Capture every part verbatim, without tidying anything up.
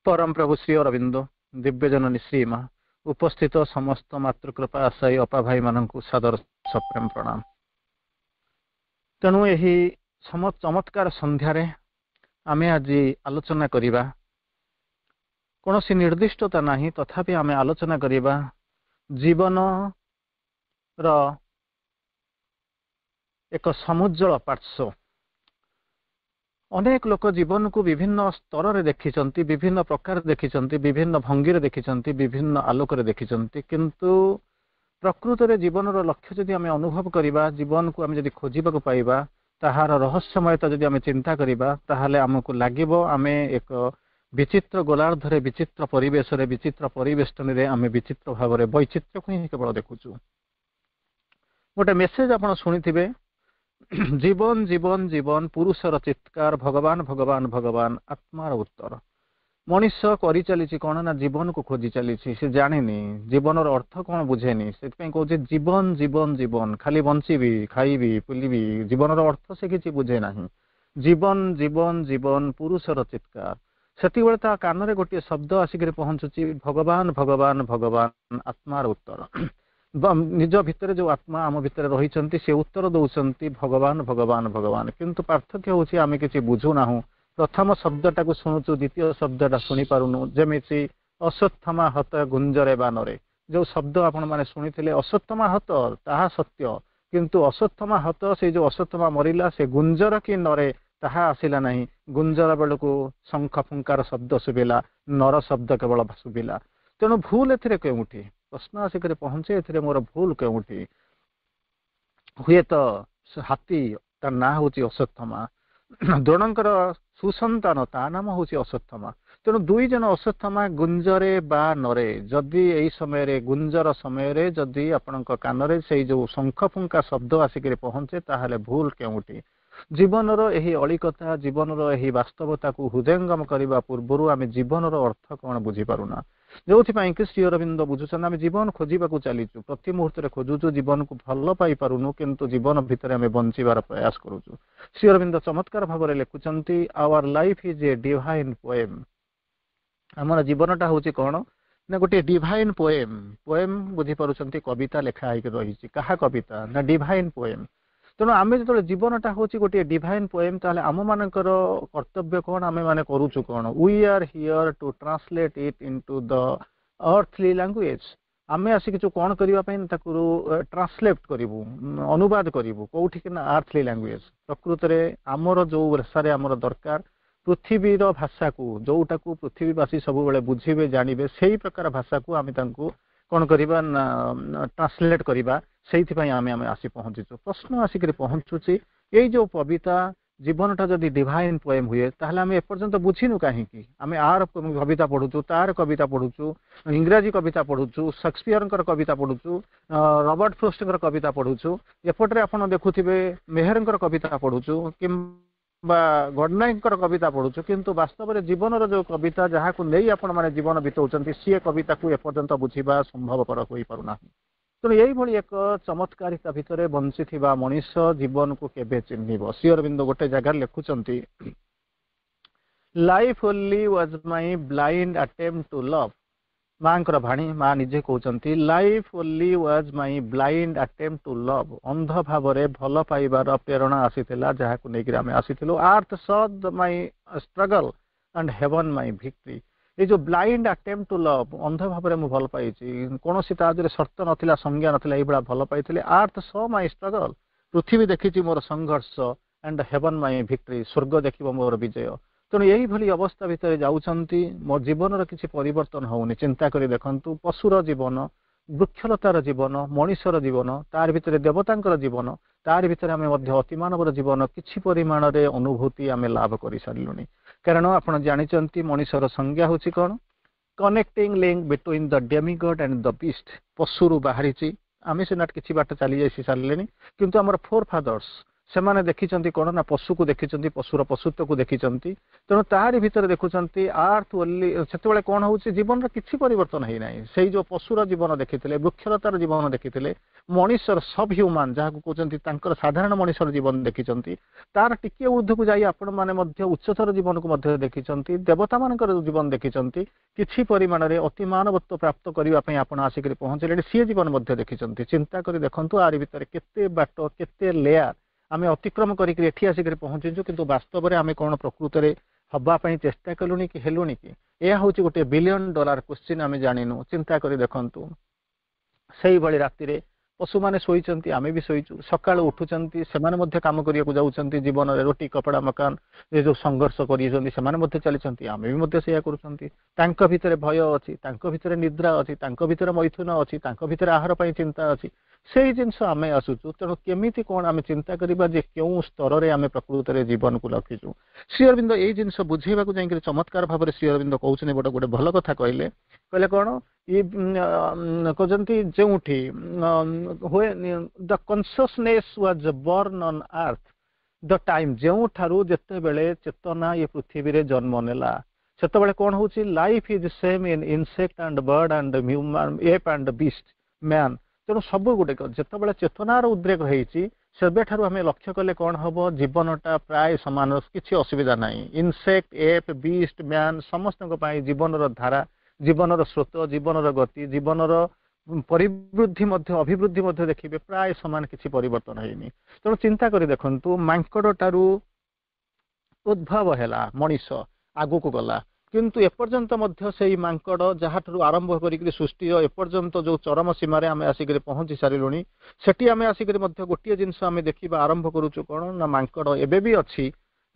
ପରମ ପ୍ରଭୁ ଶ୍ରୀ ଅରବିନ୍ଦ ଦିବ୍ୟଜନନୀ ଶ୍ରୀମା ଉପସ୍ଥିତ ସମସ୍ତ ମାତୃକୃପା ଆଶାୟୀ ଅପା ଭାଇମାନଙ୍କୁ ସାଦର ସପ୍ରେମ ପ୍ରଣାମ ତେଣୁ ଏହି ଚମତ୍କାର ସନ୍ଧ୍ୟାରେ ଆମେ ଆଜି ଆଲୋଚନା କରିବା କୌଣସି ନିର୍ଦ୍ଦିଷ୍ଟତା ନାହିଁ ତଥାପି ଆମେ ଆଲୋଚନା କରିବା ଜୀବନର ଏକ ସମୁଜ୍ଜଳ ପାର୍ଶ୍ୱ ଅନେକ ଲୋକ ଜୀବନକୁ ବିଭିନ୍ନ ସ୍ତରରେ ଦେଖିଛନ୍ତି ବିଭିନ୍ନ ପ୍ରକାର ଦେଖିଛନ୍ତି ବିଭିନ୍ନ ଭଙ୍ଗୀରେ ଦେଖିଛନ୍ତି ବିଭିନ୍ନ ଆଲୋକରେ ଦେଖିଛନ୍ତି କିନ୍ତୁ ପ୍ରକୃତରେ ଜୀବନର ଲକ୍ଷ୍ୟ ଯଦି ଆମେ ଅନୁଭବ କରିବା ଜୀବନକୁ ଆମେ ଯଦି ଖୋଜିବାକୁ ପାଇବା ତାହାର ରହସ୍ୟମୟତା ଯଦି ଆମେ ଚିନ୍ତା କରିବା ତାହେଲେ ଆମକୁ ଲାଗିବ ଆମେ ଏକ ବିଚିତ୍ର ଗୋଲାର୍ଦ୍ଧରେ ବିଚିତ୍ର ପରିବେଶରେ ବିଚିତ୍ର ପରିବେଷ୍ଟନୀରେ ଆମେ ବିଚିତ୍ର ଭାବରେ ବୈଚିତ୍ରକୁ ହିଁ କେବଳ ଦେଖୁଛୁ ଗୋଟେ ମେସେଜ ଆପଣ ଶୁଣିଥିବେ ଜୀବନ ଜୀବନ ଜୀବନ ପୁରୁଷର ଚିତ୍କାର ଭଗବାନ ଭଗବାନ ଭଗବାନ ଆତ୍ମାର ଉତ୍ତର ମଣିଷ କରିଚାଲିଛି କଣ ନା ଜୀବନକୁ ଖୋଜି ଚାଲିଛି ସେ ଜାଣିନି ଜୀବନର ଅର୍ଥ କଣ ବୁଝେନି ସେଥିପାଇଁ କହୁଛି ଜୀବନ ଜୀବନ ଜୀବନ ଖାଲି ବଞ୍ଚିବି ଖାଇବି ବୁଲିବି ଜୀବନର ଅର୍ଥ ସେ କିଛି ବୁଝେ ନାହିଁ ଜୀବନ ଜୀବନ ଜୀବନ ପୁରୁଷର ଚିତ୍କାର ସେତିକିବେଳେ ତା କାନରେ ଗୋଟିଏ ଶବ୍ଦ ଆସିକରି ପହଞ୍ଚୁଛି ଭଗବାନ ଭଗବାନ ଭଗବାନ ଆତ୍ମାର ଉତ୍ତର ନିଜ ଭିତରେ ଯୋଉ ଆତ୍ମା ଆମ ଭିତରେ ରହିଛନ୍ତି ସେ ଉତ୍ତର ଦଉଛନ୍ତି ଭଗବାନ ଭଗବାନ ଭଗବାନ କିନ୍ତୁ ପାର୍ଥକ୍ୟ ହଉଛି ଆମେ କିଛି ବୁଝୁନାହୁଁ ପ୍ରଥମ ଶବ୍ଦଟାକୁ ଶୁଣୁଛୁ ଦ୍ୱିତୀୟ ଶବ୍ଦଟା ଶୁଣି ପାରୁନୁ ଯେମିତି ଅଶ୍ୱତ୍ଥମା ହତ ଗୁଞ୍ଜରେ ବାନରେ ଯୋଉ ଶବ୍ଦ ଆପଣ ମାନେ ଶୁଣିଥିଲେ ଅଶ୍ୱତ୍ଥମା ହତ ତାହା ସତ୍ୟ କିନ୍ତୁ ଅଶ୍ୱତ୍ଥମା ହତ ସେଇ ଯୋଉ ଅଶ୍ୱତ୍ଥମା ମରିଲା ସେ ଗୁଞ୍ଜର କି ନରେ ତାହା ଆସିଲା ନାହିଁ ଗୁଞ୍ଜର ବେଳକୁ ଶଙ୍ଖ ଫୁଙ୍କାର ଶବ୍ଦ ଶୁଭିଲା ନର ଶବ୍ଦ କେବଳ ଶୁଭିଲା ତେଣୁ ଭୁଲ ଏଥିରେ କେଉଁଠି ପ୍ରଶ୍ନ ଆସିକରି ପହଞ୍ଚେ ଏଥିରେ ମୋର ଭୁଲ କେଉଁଠି ହୁଏତ ହାତୀ ତା ନାଁ ହଉଛି ଅଶ୍ୱତ୍ଥମା ଦ୍ରୋଣଙ୍କର ସୁସନ୍ତାନ ତା ନାମ ହଉଛି ଅଶ୍ୱତ୍ଥମା ତେଣୁ ଦୁଇ ଜଣ ଅଶ୍ୱତ୍ଥମା ଗୁଞ୍ଜରେ ବା ନରେ ଯଦି ଏଇ ସମୟରେ ଗୁଞ୍ଜର ସମୟରେ ଯଦି ଆପଣଙ୍କ କାନରେ ସେଇ ଯୋଉ ଶଙ୍ଖ ଫୁଙ୍କା ଶବ୍ଦ ଆସିକରି ପହଞ୍ଚେ ତାହେଲେ ଭୁଲ କେଉଁଠି ଜୀବନର ଏହି ଅଳିକତା ଜୀବନର ଏହି ବାସ୍ତବତାକୁ ହୃଦୟଙ୍ଗମ କରିବା ପୂର୍ବରୁ ଆମେ ଜୀବନର ଅର୍ଥ କଣ ବୁଝିପାରୁନା ଯୋଉଥିପାଇଁ କି ଶ୍ରୀ ଅରବିନ୍ଦ ବୁଝୁଛନ୍ତି ଆମେ ଜୀବନ ଖୋଜିବାକୁ ଚାଲିଛୁ ପ୍ରତି ମୁହୂର୍ତ୍ତରେ ଖୋଜୁଛୁ ଜୀବନକୁ ଭଲ ପାଇପାରୁନୁ କିନ୍ତୁ ଜୀବନ ଭିତରେ ଆମେ ବଞ୍ଚିବାର ପ୍ରୟାସ କରୁଛୁ ଶ୍ରୀ ଅରବିନ୍ଦ ଚମତ୍କାର ଭାବରେ ଲେଖୁଛନ୍ତି Our life is a divine poem ଆମର ଜୀବନଟା ହଉଛି କଣ ନା ଗୋଟିଏ ଡିଭାଇନ୍ ପୋଏମ୍ ପୋଏମ୍ ବୁଝିପାରୁଛନ୍ତି କବିତା ଲେଖା ହେଇକି ରହିଛି କାହା କବିତା ନା ଡିଭାଇନ୍ ପୋଏମ୍ ତେଣୁ ଆମେ ଯେତେବେଳେ ଜୀବନଟା ହଉଛି ଗୋଟିଏ ଡିଭାଇନ୍ ପୋଏମ୍ ତାହେଲେ ଆମ ମାନଙ୍କର କର୍ତ୍ତବ୍ୟ କଣ ଆମେ ମାନେ କରୁଛୁ କଣ We are here to translate it into the earthly language ଆମେ ଆସିକି ଯୋଉ କଣ କରିବା ପାଇଁ ତାକୁ ଟ୍ରାନ୍ସଲେଟ୍ କରିବୁ ଅନୁବାଦ କରିବୁ କୋଉଠି ନା ଆର୍ଥଲି ଲାଙ୍ଗୁଏଜ ପ୍ରକୃତରେ ଆମର ଯୋଉ ଭାଷାରେ ଆମର ଦରକାର ପୃଥିବୀର ଭାଷାକୁ ଯୋଉଟାକୁ ପୃଥିବୀବାସୀ ସବୁବେଳେ ବୁଝିବେ ଜାଣିବେ ସେଇ ପ୍ରକାର ଭାଷାକୁ ଆମେ ତାଙ୍କୁ କଣ କରିବା ନା ଟ୍ରାନ୍ସଲେଟ୍ କରିବା ସେଇଥିପାଇଁ ଆମେ ଆମେ ଆସି ପହଞ୍ଚିଛୁ ପ୍ରଶ୍ନ ଆସିକରି ପହଞ୍ଚୁଛି ଏଇ ଯୋଉ କବିତା ଜୀବନଟା ଯଦି ଡିଭାଇନ୍ ପୋଏମ୍ ହୁଏ ତାହେଲେ ଆମେ ଏପର୍ଯ୍ୟନ୍ତ ବୁଝିନୁ କାହିଁକି ଆମେ ଆର କବିତା ପଢୁଛୁ ତାର କବିତା ପଢୁଛୁ ଇଂରାଜୀ କବିତା ପଢୁଛୁ ସେକ୍ସପିୟରଙ୍କର କବିତା ପଢୁଛୁ ରବର୍ଟ ଫ୍ରୋଷ୍ଟଙ୍କର କବିତା ପଢୁଛୁ ଏପଟରେ ଆପଣ ଦେଖୁଥିବେ ମେହେରଙ୍କର କବିତା ପଢୁଛୁ କିମ୍ବା ଗଡ଼ନାୟକଙ୍କର କବିତା ପଢୁଛୁ କିନ୍ତୁ ବାସ୍ତବରେ ଜୀବନର ଯୋଉ କବିତା ଯାହାକୁ ନେଇ ଆପଣମାନେ ଜୀବନ ବିତଉଛନ୍ତି ସିଏ କବିତାକୁ ଏପର୍ଯ୍ୟନ୍ତ ବୁଝିବା ସମ୍ଭବପର ହୋଇପାରୁନାହିଁ ତେଣୁ ଏଇଭଳି ଏକ ଚମତ୍କାରିତା ଭିତରେ ବଞ୍ଚିଥିବା ମଣିଷ ଜୀବନକୁ କେବେ ଚିହ୍ନିବ ଶ୍ରୀ ଅରବିନ୍ଦ ଗୋଟେ ଜାଗାରେ ଲେଖୁଛନ୍ତି Life only was my blind attempt to love ମାଙ୍କର ବାଣୀ ମା ନିଜେ କହୁଛନ୍ତି Life only was my blind attempt to love ଅନ୍ଧ ଭାବରେ ଭଲ ପାଇବାର ପ୍ରେରଣା ଆସିଥିଲା ଯାହାକୁ ନେଇକରି ଆମେ ଆସିଥିଲୁ Earth saw my struggle and heaven my victory ଏଇ ଯୋଉ ବ୍ଲାଇଣ୍ଡ ଆଟେମ୍ପ୍ଟ ଟୁ ଲଭ୍ ଅନ୍ଧ ଭାବରେ ମୁଁ ଭଲ ପାଇଛି କୌଣସି ତା ଦେହରେ ସର୍ତ୍ତ ନଥିଲା ସଂଜ୍ଞା ନଥିଲା ଏଇଭଳିଆ ଭଲ ପାଇଥିଲି Earth saw my struggle ପୃଥିବୀ ଦେଖିଛି ମୋର ସଂଘର୍ଷ and heaven my victory ସ୍ୱର୍ଗ ଦେଖିବ ମୋର ବିଜୟ ତେଣୁ ଏଇଭଳି ଅବସ୍ଥା ଭିତରେ ଯାଉଛନ୍ତି ମୋ ଜୀବନର କିଛି ପରିବର୍ତ୍ତନ ହଉନି ଚିନ୍ତା କରି ଦେଖନ୍ତୁ ପଶୁର ଜୀବନ ବୃକ୍ଷଲତାର ଜୀବନ ମଣିଷର ଜୀବନ ତାର ଭିତରେ ଦେବତାଙ୍କର ଜୀବନ ତାରି ଭିତରେ ଆମେ ମଧ୍ୟ ଅତିମାନବର ଜୀବନ କିଛି ପରିମାଣରେ ଅନୁଭୂତି ଆମେ ଲାଭ କରିସାରିଲୁଣି କାରଣ ଆପଣ ଜାଣିଛନ୍ତି ମଣିଷର ସଂଜ୍ଞା ହଉଛି କଣ Connecting link between the demigod and the beast ପଶୁରୁ ବାହାରିଛି ଆମେ ସିନା କିଛି ବାଟ ଚାଲି ଯାଇ ସାରିଲେଣି କିନ୍ତୁ ଆମର ଫୋର୍ ଫାଦର୍ସ ସେମାନେ ଦେଖିଛନ୍ତି କ'ଣ ନା ପଶୁକୁ ଦେଖିଛନ୍ତି, ପଶୁର ପଶୁତ୍ୱକୁ ଦେଖିଛନ୍ତି। ତେଣୁ ତାହାରି ଭିତରେ ଦେଖୁଛନ୍ତି ଆର୍ଥ ଓନ୍ଲି। ସେତେବେଳେ କ'ଣ ହେଉଛି, ଜୀବନର କିଛି ପରିବର୍ତ୍ତନ ହେଇନାହିଁ। ସେଇ ଯୋଉ ପଶୁର ଜୀବନ ଦେଖିଥିଲେ, ବୃକ୍ଷଲତାର ଜୀବନ ଦେଖିଥିଲେ, ମଣିଷର ସବ୍ ହ୍ୟୁମାନ ଯାହାକୁ କହୁଛନ୍ତି, ତାଙ୍କର ସାଧାରଣ ମଣିଷର ଜୀବନ ଦେଖିଛନ୍ତି। ତାର ଟିକିଏ ଉର୍ଦ୍ଧ୍ୱକୁ ଯାଇ ଆପଣମାନେ ମଧ୍ୟ ଉଚ୍ଚତର ଜୀବନକୁ ମଧ୍ୟ ଦେଖିଛନ୍ତି, ଦେବତାମାନଙ୍କର ଜୀବନ ଦେଖିଛନ୍ତି। କିଛି ପରିମାଣରେ ଅତିମାନବତ୍ୱ ପ୍ରାପ୍ତ କରିବା ପାଇଁ ଆପଣ ଆସିକରି ପହଞ୍ଚିଲେଣି, ସିଏ ଜୀବନ ମଧ୍ୟ ଦେଖିଛନ୍ତି। ଚିନ୍ତା କରି ଦେଖନ୍ତୁ, ଆରି ଭିତରେ କେତେ ବାଟ, କେତେ ଲେୟାର ଆମେ ଅତିକ୍ରମ କରିକି ଏଠି ଆସିକରି ପହଞ୍ଚିଛୁ। କିନ୍ତୁ ବାସ୍ତବରେ ଆମେ କ'ଣ ପ୍ରକୃତରେ ହବା ପାଇଁ ଚେଷ୍ଟା କଲୁଣି କି ହେଲୁଣି କି? ଏହା ହେଉଛି ଗୋଟିଏ ବିଲିୟନ ଡଲାର କ୍ୱେଶ୍ଚିନ୍, ଆମେ ଜାଣିନୁ। ଚିନ୍ତା କରି ଦେଖନ୍ତୁ, ସେଇଭଳି ରାତିରେ ପଶୁମାନେ ଶୋଇଛନ୍ତି, ଆମେ ବି ଶୋଇଛୁ। ସକାଳୁ ଉଠୁଛନ୍ତି, ସେମାନେ ମଧ୍ୟ କାମ କରିବାକୁ ଯାଉଛନ୍ତି। ଜୀବନରେ ରୁଟି, କପଡ଼ା, ମକାନ ଏ ଯୋଉ ସଂଘର୍ଷ କରିଛନ୍ତି, ସେମାନେ ମଧ୍ୟ ଚାଲିଛନ୍ତି, ଆମେ ବି ମଧ୍ୟ ସେଇଆ କରୁଛନ୍ତି। ତାଙ୍କ ଭିତରେ ଭୟ ଅଛି, ତାଙ୍କ ଭିତରେ ନିଦ୍ରା ଅଛି, ତାଙ୍କ ଭିତରେ ମୈଥୁନ ଅଛି, ତାଙ୍କ ଭିତରେ ଆହାର ପାଇଁ ଚିନ୍ତା ଅଛି। ସେଇ ଜିନିଷ ଆମେ ଆସୁଛୁ। ତେଣୁ କେମିତି କ'ଣ ଆମେ ଚିନ୍ତା କରିବା ଯେ କେଉଁ ସ୍ତରରେ ଆମେ ପ୍ରକୃତରେ ଜୀବନକୁ ରଖିଛୁ? ଶ୍ରୀ ଅରବିନ୍ଦ ଏଇ ଜିନିଷ ବୁଝେଇବାକୁ ଯାଇକରି ଚମତ୍କାର ଭାବରେ ଶ୍ରୀ ଅରବିନ୍ଦ କହୁଛନ୍ତି, ଗୋଟେ ଗୋଟେ ଭଲ କଥା କହିଲେ। କହିଲେ କ'ଣ ଇଏ କହୁଛନ୍ତି, ଯେଉଁଠି ହୁଏ the consciousness was born on earth, the time ଯେଉଁଠାରୁ ଯେତେବେଳେ ଚେତନା ଏ ପୃଥିବୀରେ ଜନ୍ମ ନେଲା, ସେତେବେଳେ କ'ଣ ହଉଛି? Life is same in insect and bird and human, ape and beast, man। ତେଣୁ ସବୁ ଗୁଡ଼ିକ ଯେତେବେଳେ ଚେତନାର ଉଦ୍ରେକ ହେଇଛି, ସେବେଠାରୁ ଆମେ ଲକ୍ଷ୍ୟ କଲେ କ'ଣ ହବ? ଜୀବନଟା ପ୍ରାୟ ସମାନ, କିଛି ଅସୁବିଧା ନାହିଁ। ଇନସେକ୍ଟ, ଏପ୍, ବିଷ୍ଟ, ମ୍ୟାନ୍ ସମସ୍ତଙ୍କ ପାଇଁ ଜୀବନର ଧାରା, ଜୀବନର ସ୍ରୋତ, ଜୀବନର ଗତି, ଜୀବନର ପରିବୃଦ୍ଧି ମଧ୍ୟ, ଅଭିବୃଦ୍ଧି ମଧ୍ୟ ଦେଖିବେ ପ୍ରାୟ ସମାନ, କିଛି ପରିବର୍ତ୍ତନ ହେଇନି। ତେଣୁ ଚିନ୍ତା କରି ଦେଖନ୍ତୁ, ମାଙ୍କଡ଼ଟାରୁ ଉଦ୍ଭବ ହେଲା ମଣିଷ, ଆଗକୁ ଗଲା, କିନ୍ତୁ ଏପର୍ଯ୍ୟନ୍ତ ମଧ୍ୟ ସେଇ ମାଙ୍କଡ଼ ଯାହାଠାରୁ ଆରମ୍ଭ କରିକିରି ସୃଷ୍ଟିର ଏପର୍ଯ୍ୟନ୍ତ ଯୋଉ ଚରମ ସୀମାରେ ଆମେ ଆସିକରି ପହଞ୍ଚି ସାରିଲୁଣି, ସେଠି ଆମେ ଆସିକରି ମଧ୍ୟ ଗୋଟିଏ ଜିନିଷ ଆମେ ଦେଖିବା ଆରମ୍ଭ କରୁଛୁ। କ'ଣ ନା ମାଙ୍କଡ଼ ଏବେ ବି ଅଛି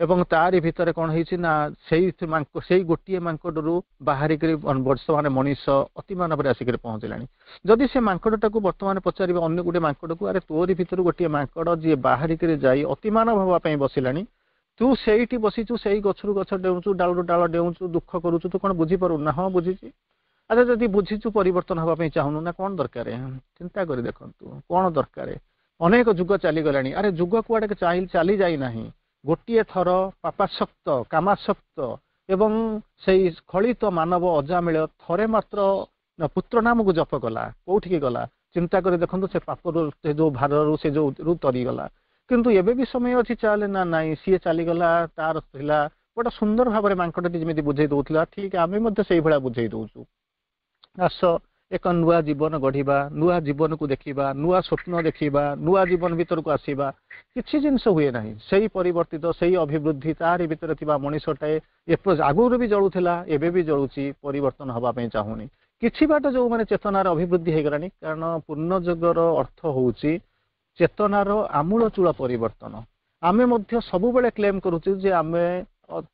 ଏବଂ ତାରି ଭିତରେ କ'ଣ ହେଇଛି ନା ସେଇ ସେଇ ଗୋଟିଏ ମାଙ୍କଡ଼ରୁ ବାହାରିକରି ବର୍ତ୍ତମାନ ମଣିଷ ଅତିମାନବରେ ଆସିକରି ପହଞ୍ଚିଲାଣି। ଯଦି ସେ ମାଙ୍କଡ଼ଟାକୁ ବର୍ତ୍ତମାନ ପଚାରିବେ ଅନ୍ୟ ଗୋଟିଏ ମାଙ୍କଡ଼କୁ, ଆରେ ତୋରି ଭିତରୁ ଗୋଟିଏ ମାଙ୍କଡ଼ ଯିଏ ବାହାରିକରି ଯାଇ ଅତିମାନବ ହେବା ପାଇଁ ବସିଲାଣି, ତୁ ସେଇଠି ବସିଛୁ, ସେଇ ଗଛରୁ ଗଛ ଡେଉଁଛୁ, ଡାଳରୁ ଡାଳ ଡେଉଁଛୁ, ଦୁଃଖ କରୁଛୁ, ତୁ କ'ଣ ବୁଝିପାରୁନୁ? ନା, ହଁ ବୁଝିଛି। ଆଚ୍ଛା, ଯଦି ବୁଝିଛୁ ପରିବର୍ତ୍ତନ ହେବା ପାଇଁ ଚାହୁଁନୁ ନା କ'ଣ ଦରକାର? ଚିନ୍ତା କରି ଦେଖନ୍ତୁ, କ'ଣ ଦରକାର? ଅନେକ ଯୁଗ ଚାଲିଗଲାଣି। ଆରେ ଯୁଗ କୁଆଡ଼େ ଚାଲି ଯାଇନାହିଁ। ଗୋଟିଏ ଥର ପାପାସକ୍ତ, କାମାସକ୍ତ ଏବଂ ସେଇ ସ୍ଖଳିତ ମାନବ ଅଜାମିଳ ଥରେ ମାତ୍ର ପୁତ୍ର ନାମକୁ ଜପ କଲା, କୋଉଠିକି ଗଲା? ଚିନ୍ତା କରି ଦେଖନ୍ତୁ, ସେ ପାପରୁ, ସେ ଯୋଉ ଭାରରୁ, ସେ ଯୋଉ ତରିଗଲା। କିନ୍ତୁ ଏବେ ବି ସମୟ ଅଛି, ଚାଲେ। ନା ନାଇଁ, ସିଏ ଚାଲିଗଲା, ତାର ଥିଲା। ଗୋଟେ ସୁନ୍ଦର ଭାବରେ ମାଙ୍କଡ଼ଟି ଯେମିତି ବୁଝେଇ ଦଉଥିଲା, ଠିକ ଆମେ ମଧ୍ୟ ସେଇଭଳିଆ ବୁଝେଇ ଦଉଛୁ। ଆସ ଏକ ନୂଆ ଜୀବନ ଗଢିବା, ନୂଆ ଜୀବନକୁ ଦେଖିବା, ନୂଆ ସ୍ୱପ୍ନ ଦେଖିବା, ନୂଆ ଜୀବନ ଭିତରକୁ ଆସିବା। କିଛି ଜିନିଷ ହୁଏ ନାହିଁ। ସେଇ ପରିବର୍ତ୍ତିତ, ସେଇ ଅଭିବୃଦ୍ଧି, ତାରି ଭିତରେ ଥିବା ମଣିଷଟାଏ ଆଗରୁ ବି ଜଳୁଥିଲା, ଏବେ ବି ଜଳୁଛି, ପରିବର୍ତ୍ତନ ହବା ପାଇଁ ଚାହୁଁନି। କିଛି ବାଟ ଯୋଉମାନେ ଚେତନାର ଅଭିବୃଦ୍ଧି ହେଇଗଲାଣି, କାରଣ ପୂର୍ଣ୍ଣଯୁଗର ଅର୍ଥ ହଉଛି ଚେତନାର ଆମୂଳଚୂଳ ପରିବର୍ତ୍ତନ। ଆମେ ମଧ୍ୟ ସବୁବେଳେ କ୍ଲେମ କରୁଛୁ ଯେ ଆମେ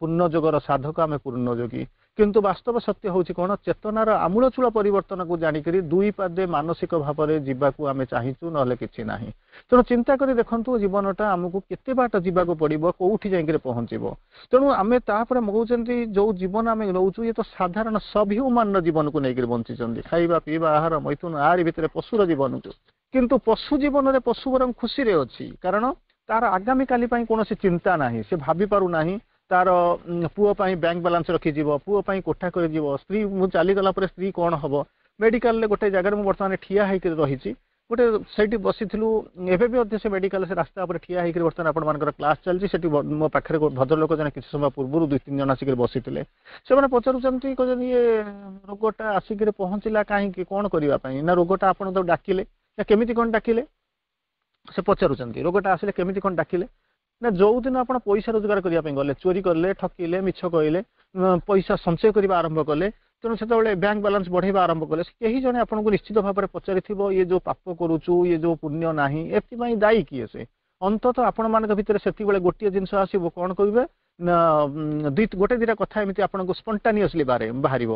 ପୂର୍ଣ୍ଣଯୁଗର ସାଧକ, ଆମେ ପୂର୍ଣ୍ଣଯୋଗୀ। କିନ୍ତୁ ବାସ୍ତବ ସତ୍ୟ ହେଉଛି କ'ଣ? ଚେତନାର ଆମୂଳଚୂଳ ପରିବର୍ତ୍ତନକୁ ଜାଣିକରି ଦୁଇ ପାଦେ ମାନସିକ ଭାବରେ ଯିବାକୁ ଆମେ ଚାହିଁଛୁ, ନହେଲେ କିଛି ନାହିଁ। ତେଣୁ ଚିନ୍ତା କରି ଦେଖନ୍ତୁ, ଜୀବନଟା ଆମକୁ କେତେ ବାଟ ଯିବାକୁ ପଡିବ, କୋଉଠି ଯାଇକରି ପହଞ୍ଚିବ? ତେଣୁ ଆମେ ତାପରେ କହୁଛନ୍ତି, ଯୋଉ ଜୀବନ ଆମେ ନଉଛୁ, ଇଏ ତ ସାଧାରଣ ସବ୍ ହ୍ୟୁମାନର ଜୀବନକୁ ନେଇକରି ବଞ୍ଚିଛନ୍ତି। ଖାଇବା, ପିଇବା, ଆହାର, ମୈଥୁନ, ଆରି ଭିତରେ ପଶୁର ଜୀବନକୁ। କିନ୍ତୁ ପଶୁ ଜୀବନରେ ପଶୁ ବରଂ ଖୁସିରେ ଅଛି, କାରଣ ତାର ଆଗାମୀ କାଲି ପାଇଁ କୌଣସି ଚିନ୍ତା ନାହିଁ। ସେ ଭାବି ପାରୁନାହିଁ ତାର ପୁଅ ପାଇଁ ବ୍ୟାଙ୍କ ବାଲାନ୍ସ ରଖିଯିବ, ପୁଅ ପାଇଁ କୋଠା କରିଯିବ, ସ୍ତ୍ରୀ ମୁଁ ଚାଲିଗଲା ପରେ ସ୍ତ୍ରୀ କ'ଣ ହବ। ମେଡିକାଲରେ ଗୋଟେ ଜାଗାରେ ମୁଁ ବର୍ତ୍ତମାନ ଠିଆ ହେଇକରି ରହିଛି, ଗୋଟେ ସେଇଠି ବସିଥିଲୁ। ଏବେ ବି ମଧ୍ୟ ସେ ମେଡିକାଲ ସେ ରାସ୍ତା ଉପରେ ଠିଆ ହେଇକରି ବର୍ତ୍ତମାନ ଆପଣମାନଙ୍କର କ୍ଲାସ୍ ଚାଲିଛି। ସେଠି ମୋ ପାଖରେ ଭଦ୍ରଲୋକ ଜଣେ କିଛି ସମୟ ପୂର୍ବରୁ ଦୁଇ ତିନି ଜଣ ଆସିକରି ବସିଥିଲେ। ସେମାନେ ପଚାରୁଛନ୍ତି, କହୁଛନ୍ତି, ଇଏ ରୋଗଟା ଆସିକରି ପହଞ୍ଚିଲା କାହିଁକି, କ'ଣ କରିବା ପାଇଁ? ନା ରୋଗଟା ଆପଣ ତାକୁ ଡାକିଲେ ନା କେମିତି କ'ଣ ଡାକିଲେ? ସେ ପଚାରୁଛନ୍ତି, ରୋଗଟା ଆସିଲେ କେମିତି କ'ଣ ଡାକିଲେ? ନା ଯୋଉଦିନ ଆପଣ ପଇସା ରୋଜଗାର କରିବା ପାଇଁ ଗଲେ, ଚୋରି କଲେ, ଠକିଲେ, ମିଛ କହିଲେ, ପଇସା ସଞ୍ଚୟ କରିବା ଆରମ୍ଭ କଲେ, ତେଣୁ ସେତେବେଳେ ବ୍ୟାଙ୍କ ବାଲାନ୍ସ ବଢେଇବା ଆରମ୍ଭ କଲେ, କେହି ଜଣେ ଆପଣଙ୍କୁ ନିଶ୍ଚିତ ଭାବରେ ପଚାରିଥିବ, ଇଏ ଯୋଉ ପାପ କରୁଛୁ, ଇଏ ଯୋଉ ପୁଣ୍ୟ ନାହିଁ, ଏଥିପାଇଁ ଦାୟୀ କିଏ ସେ? ଅନ୍ତତଃ ଆପଣମାନଙ୍କ ଭିତରେ ସେତିକିବେଳେ ଗୋଟିଏ ଜିନିଷ ଆସିବ, କ'ଣ କହିବେ ନା ଦୁଇ ଗୋଟେ ଦିଟା କଥା ଏମିତି ଆପଣଙ୍କୁ ସ୍ପଣ୍ଟାନିୟସଲି ବାହାରେ ବାହାରିବ।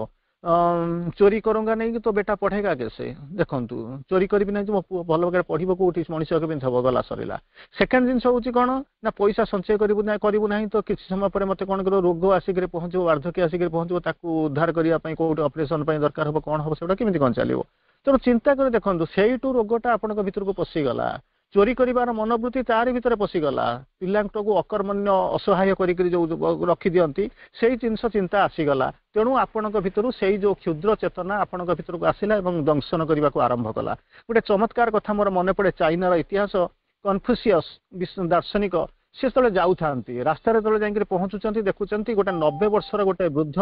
चोरी करूंगा नहीं तो बेटा पढ़ेगा कैसे? ଦେଖନ୍ତୁ, ଚୋରି କରିବି ନାହିଁ ମୋ ପୁଅ ଭଲ ଭାବରେ ପଢିବ କୋଉଠି, ମଣିଷ କେମିତି ହବ? ଗଲା, ସରିଲା। ସେକେଣ୍ଡ ଜିନିଷ ହଉଛି କ'ଣ ନା ପଇସା ସଞ୍ଚୟ କରିବୁ ନା କରିବୁ ନାହିଁ ତ କିଛି ସମୟ ପରେ ମତେ କ'ଣ କରିବ, ରୋଗ ଆସିକରି ପହଞ୍ଚିବ, ବାର୍ଦ୍ଧକ୍ୟ ଆସିକରି ପହଞ୍ଚିବ, ତାକୁ ଉଦ୍ଧାର କରିବା ପାଇଁ କୋଉଠି ଅପରେସନ ପାଇଁ ଦରକାର ହବ, କ'ଣ ହବ, ସେଗୁଡ଼ା କେମିତି କ'ଣ ଚାଲିବ? ତେଣୁ ଚିନ୍ତା କରି ଦେଖନ୍ତୁ, ସେଇଠୁ ରୋଗଟା ଆପଣଙ୍କ ଭିତରକୁ ପଶିଗଲା। ଚୋରି କରିବାର ମନୋବୃତ୍ତି ତାରି ଭିତରେ ପଶିଗଲା। ପିଲାଙ୍କୁ ଅକର୍ମଣ୍ୟ, ଅସହାୟ କରିକିରି ଯୋଉ ରଖିଦିଅନ୍ତି, ସେଇ ଜିନିଷ ଚିନ୍ତା ଆସିଗଲା। ତେଣୁ ଆପଣଙ୍କ ଭିତରୁ ସେଇ ଯୋଉ କ୍ଷୁଦ୍ର ଚେତନା ଆପଣଙ୍କ ଭିତରକୁ ଆସିଲା ଏବଂ ଦଂଶନ କରିବାକୁ ଆରମ୍ଭ କଲା। ଗୋଟେ ଚମତ୍କାର କଥା ମୋର ମନେ ପଡେ, ଚାଇନାର ଇତିହାସ। କନଫ୍ୟୁସିୟସ୍ ଦାର୍ଶନିକ, ସେ ଯେତେବେଳେ ଯାଉଥାନ୍ତି ରାସ୍ତାରେ, ଯେତେବେଳେ ଯାଇକରି ପହଞ୍ଚୁଛନ୍ତି, ଦେଖୁଛନ୍ତି ଗୋଟେ ନବେ ବର୍ଷର ଗୋଟେ ବୃଦ୍ଧ,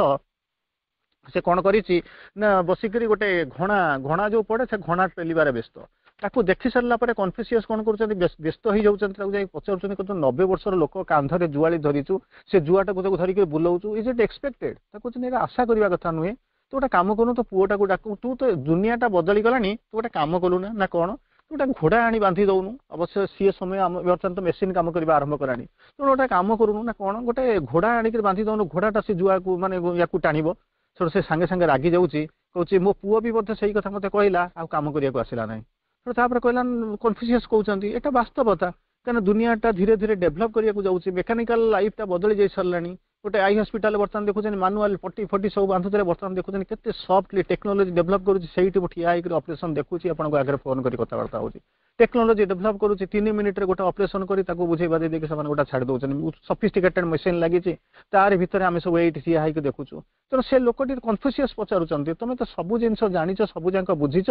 ସେ କଣ କରିଛି ନା ବସିକରି ଗୋଟେ ଘଣା ଘଣା ଯୋଉ ପଡେ, ସେ ଘଣା ପେଲିବାରେ ବ୍ୟସ୍ତ। ତାକୁ ଦେଖି ସାରିଲା ପରେ କନଫ୍ୟୁସିୟସ୍ କଣ କରୁଛନ୍ତି? ବ୍ୟସ୍ତ ହେଇଯାଉଛନ୍ତି। ତାକୁ ଯାଇ ପଚାରୁଛନ୍ତି, କହୁଛନ୍ତି, ନବେ ବର୍ଷର ଲୋକ, କାନ୍ଧରେ ଜୁଆଳି ଧରିଛୁ, ସେ ଜୁଆଟାକୁ ତାକୁ ଧରିକି ବୁଲଉଛୁ, is it expected? ତାକୁ କହୁଛନ୍ତି, ଏଇଟା ଆଶା କରିବା କଥା ନୁହେଁ। ତୁ ଗୋଟେ କାମ କରୁନୁ, ତୋ ପୁଅଟାକୁ ଡାକୁ। ତୁ ତ ଦୁନିଆଟା ବଦଳି ଗଲାଣି, ତୁ ଗୋଟେ କାମ କଲୁ ନା ନା କଣ, ତୁ ଗୋଟେ ଘୋଡ଼ା ଆଣି ବାନ୍ଧି ଦଉନୁ। ଅବଶ୍ୟ ସିଏ ସମୟ, ଆମ ବର୍ତ୍ତମାନ ତ ମେସିନ କାମ କରିବା ଆରମ୍ଭ କଲାଣି। ତେଣୁ ଗୋଟେ କାମ କରୁନୁ ନା କଣ, ଗୋଟେ ଘୋଡ଼ା ଆଣିକି ବାନ୍ଧି ଦଉନୁ, ଘୋଡ଼ାଟା ସେ ଜୁଆକୁ ମାନେ ୟାକୁ ଟାଣିବ। ସେଠୁ ସେ ସାଙ୍ଗେ ସାଙ୍ଗେ ରାଗି ଯାଉଛି, କହୁଛି, ମୋ ପୁଅ ବି ମଧ୍ୟ ସେଇ କଥା ମତେ କହିଲା, ଆଉ କାମ କରିବାକୁ ଆସିଲା ନାହିଁ। ତେଣୁ ତାପରେ କହିଲା, କନଫ୍ୟୁସିୟସ୍ କହୁଛନ୍ତି, ଏଇଟା ବାସ୍ତବତା। କାରଣ ଦୁନିଆଟା ଧୀରେ ଧୀରେ ଡେଭଲପ କରିବାକୁ ଯାଉଛି, ମେକାନିକାଲ ଲାଇଫଟା ବଦଳି ଯାଇ ସାରିଲାଣି। ଗୋଟେ I hospital ବର୍ତ୍ତମାନ ଦେଖୁଛନ୍ତି, ମାନୁଆଲ ପଟି ଫଟି ସବୁ ବାନ୍ଧୁଥିଲେ, ବର୍ତ୍ତମାନ ଦେଖୁଛନ୍ତି କେତେ ସଫ୍ଟଲି ଟେକ୍ନୋଲୋଜି ଡେଭଲପ କରୁଛି। ସେଇଠି ମୁଁ ଠିଆ ହେଇକରି ଅପରେସନ ଦେଖୁଛି, ଆପଣଙ୍କ ଆଗରେ ଫୋନ କରି କଥାବାର୍ତ୍ତା ହଉଛି। ଟେକ୍ନୋଲୋଜି ଡେଭଲପ କରୁଛି, ତିନି ମିନିଟରେ ଗୋଟେ ଅପରେସନ କରି ତାକୁ ବୁଝେଇ ବାଝେଇ ଦେଇକି ସେମାନେ ଗୋଟେ ଛାଡ଼ି ଦଉଛନ୍ତି। ସଫିଷ୍ଟିକେଟେଡ ମେସିନ ଲାଗିଛି, ତାରି ଭିତରେ ଆମେ ସବୁ ଏଇଠି ଠିଆ ହେଇକି ଦେଖୁଛୁ। ତେଣୁ ସେ ଲୋକଟି, କନଫ୍ୟୁସିୟସ୍ ପଚାରୁଛନ୍ତି, ତମେ ତ ସବୁ ଜିନିଷ ଜାଣିଛ, ସବୁ ଯାକ ବୁଝିଛ,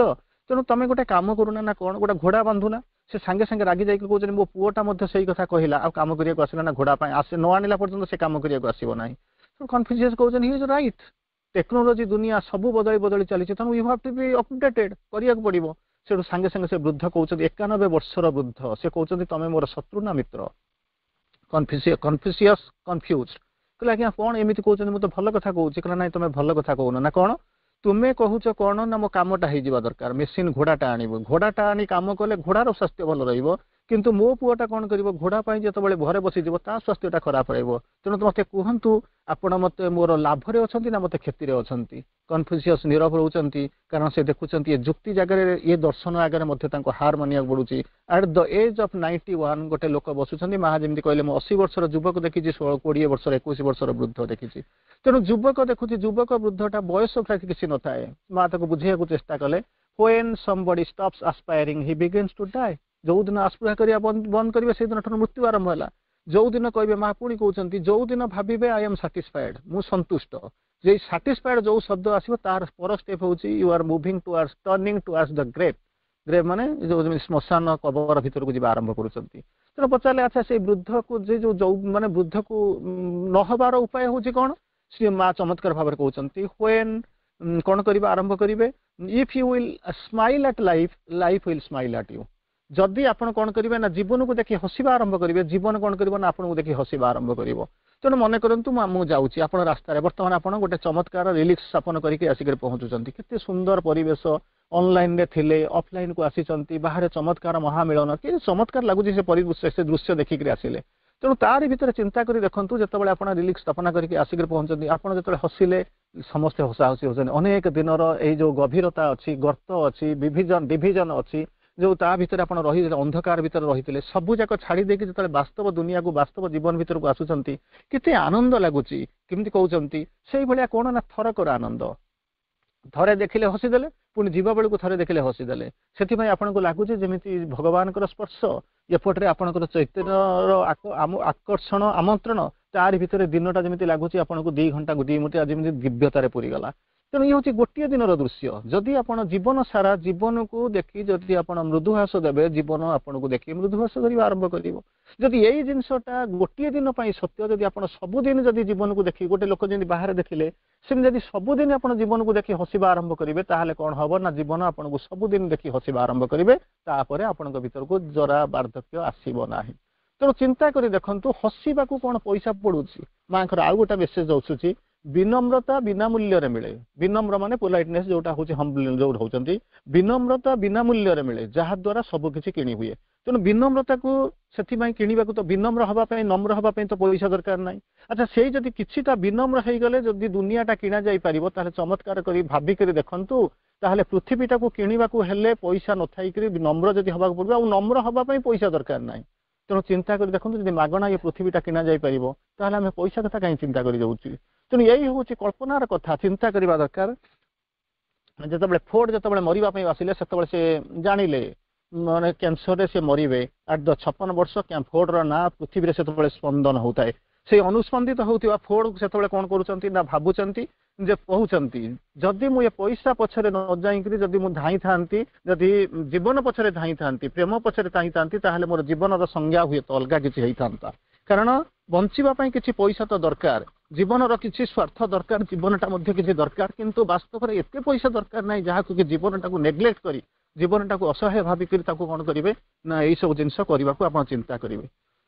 ତେଣୁ ତମେ ଗୋଟେ କାମ କରୁନା ନା କଣ, ଗୋଟେ ଘୋଡ଼ା ବାନ୍ଧୁନା। ସେ ସାଙ୍ଗେ ସାଙ୍ଗେ ରାଗି ଯାଇକି କହୁଛନ୍ତି, ମୋ ପୁଅଟା ମଧ୍ୟ ସେଇ କଥା କହିଲା, ଆଉ କାମ କରିବାକୁ ଆସିଲା ନା। ଘୋଡ଼ା ପାଇଁ ଆସେ ନ ଆଣିଲା ପର୍ଯ୍ୟନ୍ତ ସେ କାମ କରିବାକୁ ଆସିବ ନାହିଁ। ତେଣୁ କନଫ୍ୟୁସିୟସ୍ କହୁଛନ୍ତି, he is right. Technology ଦୁନିଆ ସବୁ ବଦଳି ବଦଳି ଚାଲିଛି, ତେଣୁ you have to be updated କରିବାକୁ ପଡିବ। ସେଠୁ ସାଙ୍ଗେ ସାଙ୍ଗେ ସେ ବୃଦ୍ଧ କହୁଛନ୍ତି, ଏକାନବେ ବର୍ଷର ବୃଦ୍ଧ, ସେ କହୁଛନ୍ତି, ତମେ ମୋର ଶତ୍ରୁ ନା ମିତ୍ର? କନଫ୍ୟୁସିୟସ୍ କନଫ୍ୟୁଜ କହିଲେ, ଆଜ୍ଞା, କଣ ଏମିତି କହୁଛନ୍ତି? ମୁଁ ତ ଭଲ କଥା କହୁଛି। କହିଲା, ନାଇଁ, ତମେ ଭଲ କଥା କହୁନ। ନା କଣ, ତୁମେ କହୁଛ କଣ ନା ମୋ କାମଟା ହେଇଯିବା ଦରକାର, ମେସିନ ଘୋଡ଼ାଟା ଆଣିବ, ଘୋଡ଼ାଟା ଆଣି କାମ କଲେ ଘୋଡ଼ାର ସ୍ୱାସ୍ଥ୍ୟ ଭଲ ରହିବ, କିନ୍ତୁ ମୋ ପୁଅଟା କଣ କରିବ? ଘୋଡ଼ା ପାଇଁ ଯେତେବେଳେ ଘରେ ବସିଯିବ, ତା ସ୍ୱାସ୍ଥ୍ୟଟା ଖରାପ ରହିବ। ତେଣୁ ମତେ କୁହନ୍ତୁ, ଆପଣ ମତେ ମୋର ଲାଭରେ ଅଛନ୍ତି ନା ମତେ କ୍ଷତିରେ ଅଛନ୍ତି? କନଫ୍ୟୁସିୟସ୍ ନୀରବ ରହୁଛନ୍ତି, କାରଣ ସେ ଦେଖୁଛନ୍ତି ଏ ଯୁକ୍ତି ଜାଗାରେ, ଏ ଦର୍ଶନ ଆଗରେ ମଧ୍ୟ ତାଙ୍କୁ ହାର ମାନିବାକୁ ପଡୁଛି। At the age of ninety one ଗୋଟେ ଲୋକ ବସୁଛନ୍ତି। ମା ଯେମିତି କହିଲେ, ମୁଁ ଅଶୀ ବର୍ଷର ଯୁବକ ଦେଖିଛି, ଷୋହଳ କୋଡ଼ିଏ ବର୍ଷର, ଏକୋଇଶ ବର୍ଷର ବୃଦ୍ଧ ଦେଖିଛି। ତେଣୁ ଯୁବକ ଦେଖୁଛି, ଯୁବକ ବୃଦ୍ଧଟା ବୟସ କିଛି ନଥାଏ। ମା ତାକୁ ବୁଝେଇବାକୁ ଚେଷ୍ଟା କଲେ, when somebody stops aspiring, he begins to die. ଯୋଉ ଦିନ ଆସ୍ପୃହା କରିବା ବନ୍ଦ କରିବେ, ସେଇଦିନ ଠାରୁ ମୃତ୍ୟୁ ଆରମ୍ଭ ହେଲା। ଯୋଉ ଦିନ କହିବେ, ମା ପୁଣି କହୁଛନ୍ତି, ଯୋଉ ଦିନ ଭାବିବେ I am satisfied, ମୁଁ ସନ୍ତୁଷ୍ଟ, ଯେ ସାଟିସ୍ଫାଏଡ୍ ଯୋଉ ଶବ୍ଦ ଆସିବ, ତାର ପର ଷ୍ଟେପ୍ ହେଉଛି you are moving towards, turning towards the grave. Grave ମାନେ ଯୋଉ ଯେମିତି ଶ୍ମଶାନ, କବର ଭିତରକୁ ଯିବା ଆରମ୍ଭ କରୁଛନ୍ତି। ତେଣୁ ପଚାରିଲେ, ଆଚ୍ଛା, ସେଇ ବୃଦ୍ଧକୁ ଯେ ଯୋଉ ଯୋଉ ମାନେ ବୃଦ୍ଧକୁ ନ ହବାର ଉପାୟ ହେଉଛି କଣ? ଶ୍ରୀ ମା ଚମତ୍କାର ଭାବରେ କହୁଛନ୍ତି, when କଣ କରିବା ଆରମ୍ଭ କରିବେ, if you will smile at life, life will smile at you. ଯଦି ଆପଣ କଣ କରିବେ ନା ଜୀବନକୁ ଦେଖି ହସିବା ଆରମ୍ଭ କରିବେ, ଜୀବନ କଣ କରିବ ନା ଆପଣଙ୍କୁ ଦେଖି ହସିବା ଆରମ୍ଭ କରିବ। ତେଣୁ ମନେ କରନ୍ତୁ, ମୁଁ ଯାଉଛି, ଆପଣ ରାସ୍ତାରେ ବର୍ତ୍ତମାନ ଆପଣ ଗୋଟେ ଚମତ୍କାର ରିଲିକ୍ସ ସ୍ଥାପନ କରିକି ଆସିକରି ପହଞ୍ଚୁଛନ୍ତି। କେତେ ସୁନ୍ଦର ପରିବେଶ! ଅନଲାଇନରେ ଥିଲେ, ଅଫଲାଇନକୁ ଆସିଛନ୍ତି, ବାହାରେ ଚମତ୍କାର ମହାମିଳନ, କି ଚମତ୍କାର ଲାଗୁଛି ସେ ପରିବେଶ, ସେ ଦୃଶ୍ୟ ଦେଖିକରି ଆସିଲେ। ତେଣୁ ତାରି ଭିତରେ ଚିନ୍ତା କରି ଦେଖନ୍ତୁ, ଯେତେବେଳେ ଆପଣ ରିଲିକ୍ସ ସ୍ଥାପନା କରିକି ଆସିକରି ପହଞ୍ଚନ୍ତି, ଆପଣ ଯେତେବେଳେ ହସିଲେ, ସମସ୍ତେ ହସା ହସି ହଉଛନ୍ତି। ଅନେକ ଦିନର ଏଇ ଯୋଉ ଗଭୀରତା ଅଛି, ଗର୍ତ୍ତ ଅଛି, ବିଭିଜନ ଡିଭିଜନ ଅଛି, ଯୋଉ ତା ଭିତରେ ଆପଣ ରହି ଅନ୍ଧକାର ଭିତରେ ରହିଥିଲେ, ସବୁ ଯାକ ଛାଡ଼ି ଦେଇକି ଯେତେବେଳେ ବାସ୍ତବ ଦୁନିଆକୁ, ବାସ୍ତବ ଜୀବନ ଭିତରକୁ ଆସୁଛନ୍ତି, କେତେ ଆନନ୍ଦ ଲାଗୁଛି। କେମିତି କହୁଛନ୍ତି, ସେଇଭଳିଆ କଣ ନା ଥରକର ଆନନ୍ଦ। ଥରେ ଦେଖିଲେ ହସିଦେଲେ, ପୁଣି ଯିବା ବେଳକୁ ଥରେ ଦେଖିଲେ ହସିଦେଲେ। ସେଥିପାଇଁ ଆପଣଙ୍କୁ ଲାଗୁଛି ଯେମିତି ଭଗବାନଙ୍କର ସ୍ପର୍ଶ, ଏପଟରେ ଆପଣଙ୍କର ଚୈତନ୍ୟର ଆକର୍ଷଣ, ଆମନ୍ତ୍ରଣ। ତାରି ଭିତରେ ଦିନଟା ଯେମିତି ଲାଗୁଛି ଆପଣଙ୍କୁ ଦି ଘଣ୍ଟା ଦି ମିନିଟ୍ ଯେମିତି ଦିବ୍ୟତାରେ ପୁରିଗଲା। ତେଣୁ ଇଏ ହେଉଛି ଗୋଟିଏ ଦିନର ଦୃଶ୍ୟ। ଯଦି ଆପଣ ଜୀବନ ସାରା ଜୀବନକୁ ଦେଖି ଯଦି ଆପଣ ମୃଦୁହାସ ଦେବେ, ଜୀବନ ଆପଣଙ୍କୁ ଦେଖି ମୃଦୁହାସ କରିବା ଆରମ୍ଭ କରିବ। ଯଦି ଏଇ ଜିନିଷଟା ଗୋଟିଏ ଦିନ ପାଇଁ ସତ୍ୟ, ଯଦି ଆପଣ ସବୁଦିନ ଯଦି ଜୀବନକୁ ଦେଖି, ଗୋଟେ ଲୋକ ଯେମିତି ବାହାରେ ଦେଖିଲେ, ସେମିତି ଯଦି ସବୁଦିନ ଆପଣ ଜୀବନକୁ ଦେଖି ହସିବା ଆରମ୍ଭ କରିବେ, ତାହେଲେ କଣ ହବ ନା ଜୀବନ ଆପଣଙ୍କୁ ସବୁଦିନ ଦେଖି ହସିବା ଆରମ୍ଭ କରିବେ। ତାପରେ ଆପଣଙ୍କ ଭିତରକୁ ଜରା ବାର୍ଦ୍ଧକ୍ୟ ଆସିବ ନାହିଁ। ତେଣୁ ଚିନ୍ତା କରି ଦେଖନ୍ତୁ, ହସିବାକୁ କଣ ପଇସା ପଡୁଛି? ମାଙ୍କର ଆଉ ଗୋଟେ ମେସେଜ ଆସୁଛି, ବିନମ୍ରତା ବିନା ମୂଲ୍ୟରେ ମିଳେ। ବିନମ୍ର ମାନେ ପୋଲାଇଟନେସ୍, ଯୋଉଟା ହଉଛି ଯୋଉ ରହୁଛନ୍ତି, ବିନମ୍ରତା ବିନା ମୂଲ୍ୟରେ ମିଳେ, ଯାହା ଦ୍ୱାରା ସବୁ କିଛି କିଣି ହୁଏ। ତେଣୁ ବିନମ୍ରତାକୁ ସେଥିପାଇଁ କିଣିବାକୁ ତ, ବିନମ୍ର ହବା ପାଇଁ, ନମ୍ର ହବା ପାଇଁ ତ ପଇସା ଦରକାର ନାହିଁ। ଆଚ୍ଛା, ସେଇ ଯଦି କିଛିଟା ବିନମ୍ର ହେଇଗଲେ ଯଦି ଦୁନିଆଟା କିଣା ଯାଇପାରିବ, ତାହେଲେ ଚମତ୍କାର କରି ଭାବିକରି ଦେଖନ୍ତୁ, ତାହେଲେ ପୃଥିବୀଟାକୁ କିଣିବାକୁ ହେଲେ ପଇସା ନଥାଇକରି ନମ୍ର ଯଦି ହବାକୁ ପଡିବ, ଆଉ ନମ୍ର ହବା ପାଇଁ ପଇସା ଦରକାର ନାହିଁ। ତେଣୁ ଚିନ୍ତା କରି ଦେଖନ୍ତୁ, ଯଦି ମାଗଣା ଏ ପୃଥିବୀଟା କିଣା ଯାଇପାରିବ, ତାହେଲେ ଆମେ ପଇସା କଥା କାହିଁ ଚିନ୍ତା କରି ଯାଉଛୁ? ତେଣୁ ଏଇ ହେଉଛି କଳ୍ପନାର କଥା, ଚିନ୍ତା କରିବା ଦରକାର। ଯେତେବେଳେ ଫୋର୍ଡ ଯେତେବେଳେ ମରିବା ପାଇଁ ଆସିଲେ, ସେତେବେଳେ ସେ ଜାଣିଲେ, ମାନେ କ୍ୟାନ୍ସରରେ ସେ ମରିବେ ଆଟ୍ the ଛପନ ବର୍ଷ। ଫୋର୍ଡର ନାଁ ପୃଥିବୀରେ ସେତେବେଳେ ସ୍ପନ୍ଦନ ହଉଥାଏ। ସେଇ ଅନୁସ୍ପନ୍ଦିତ ହଉଥିବା ଫୋର୍ଡ ସେତେବେଳେ କଣ କରୁଛନ୍ତି ନା ଭାବୁଛନ୍ତି ଯେ କହୁଛନ୍ତି, ଯଦି ମୁଁ ଏ ପଇସା ପଛରେ ନ ଯାଇକିରି ଯଦି ମୁଁ ଧାଇଁଥାନ୍ତି, ଯଦି ଜୀବନ ପଛରେ ଧାଇଁଥାନ୍ତି, ପ୍ରେମ ପଛରେ ଧାଇଁଥାନ୍ତି, ତାହେଲେ ମୋର ଜୀବନର ସଂଜ୍ଞା ହୁଏତ ଅଲଗା କିଛି ହେଇଥାନ୍ତା। କାରଣ ବଞ୍ଚିବା ପାଇଁ କିଛି ପଇସା ତ ଦରକାର, ଜୀବନର କିଛି ସ୍ୱାର୍ଥ ଦରକାର, ଜୀବନଟା ମଧ୍ୟ କିଛି ଦରକାର, କିନ୍ତୁ ବାସ୍ତବରେ ଏତେ ପଇସା ଦରକାର ନାହିଁ ଯାହାକୁ କି ଜୀବନଟାକୁ ନେଗ୍ଲେକ୍ଟ କରି, ଜୀବନଟାକୁ ଅସହାୟ ଭାବିକରି ତାକୁ କଣ କରିବେ ନା ଏଇସବୁ ଜିନିଷ କରିବାକୁ ଆପଣ ଚିନ୍ତା କରିବେ।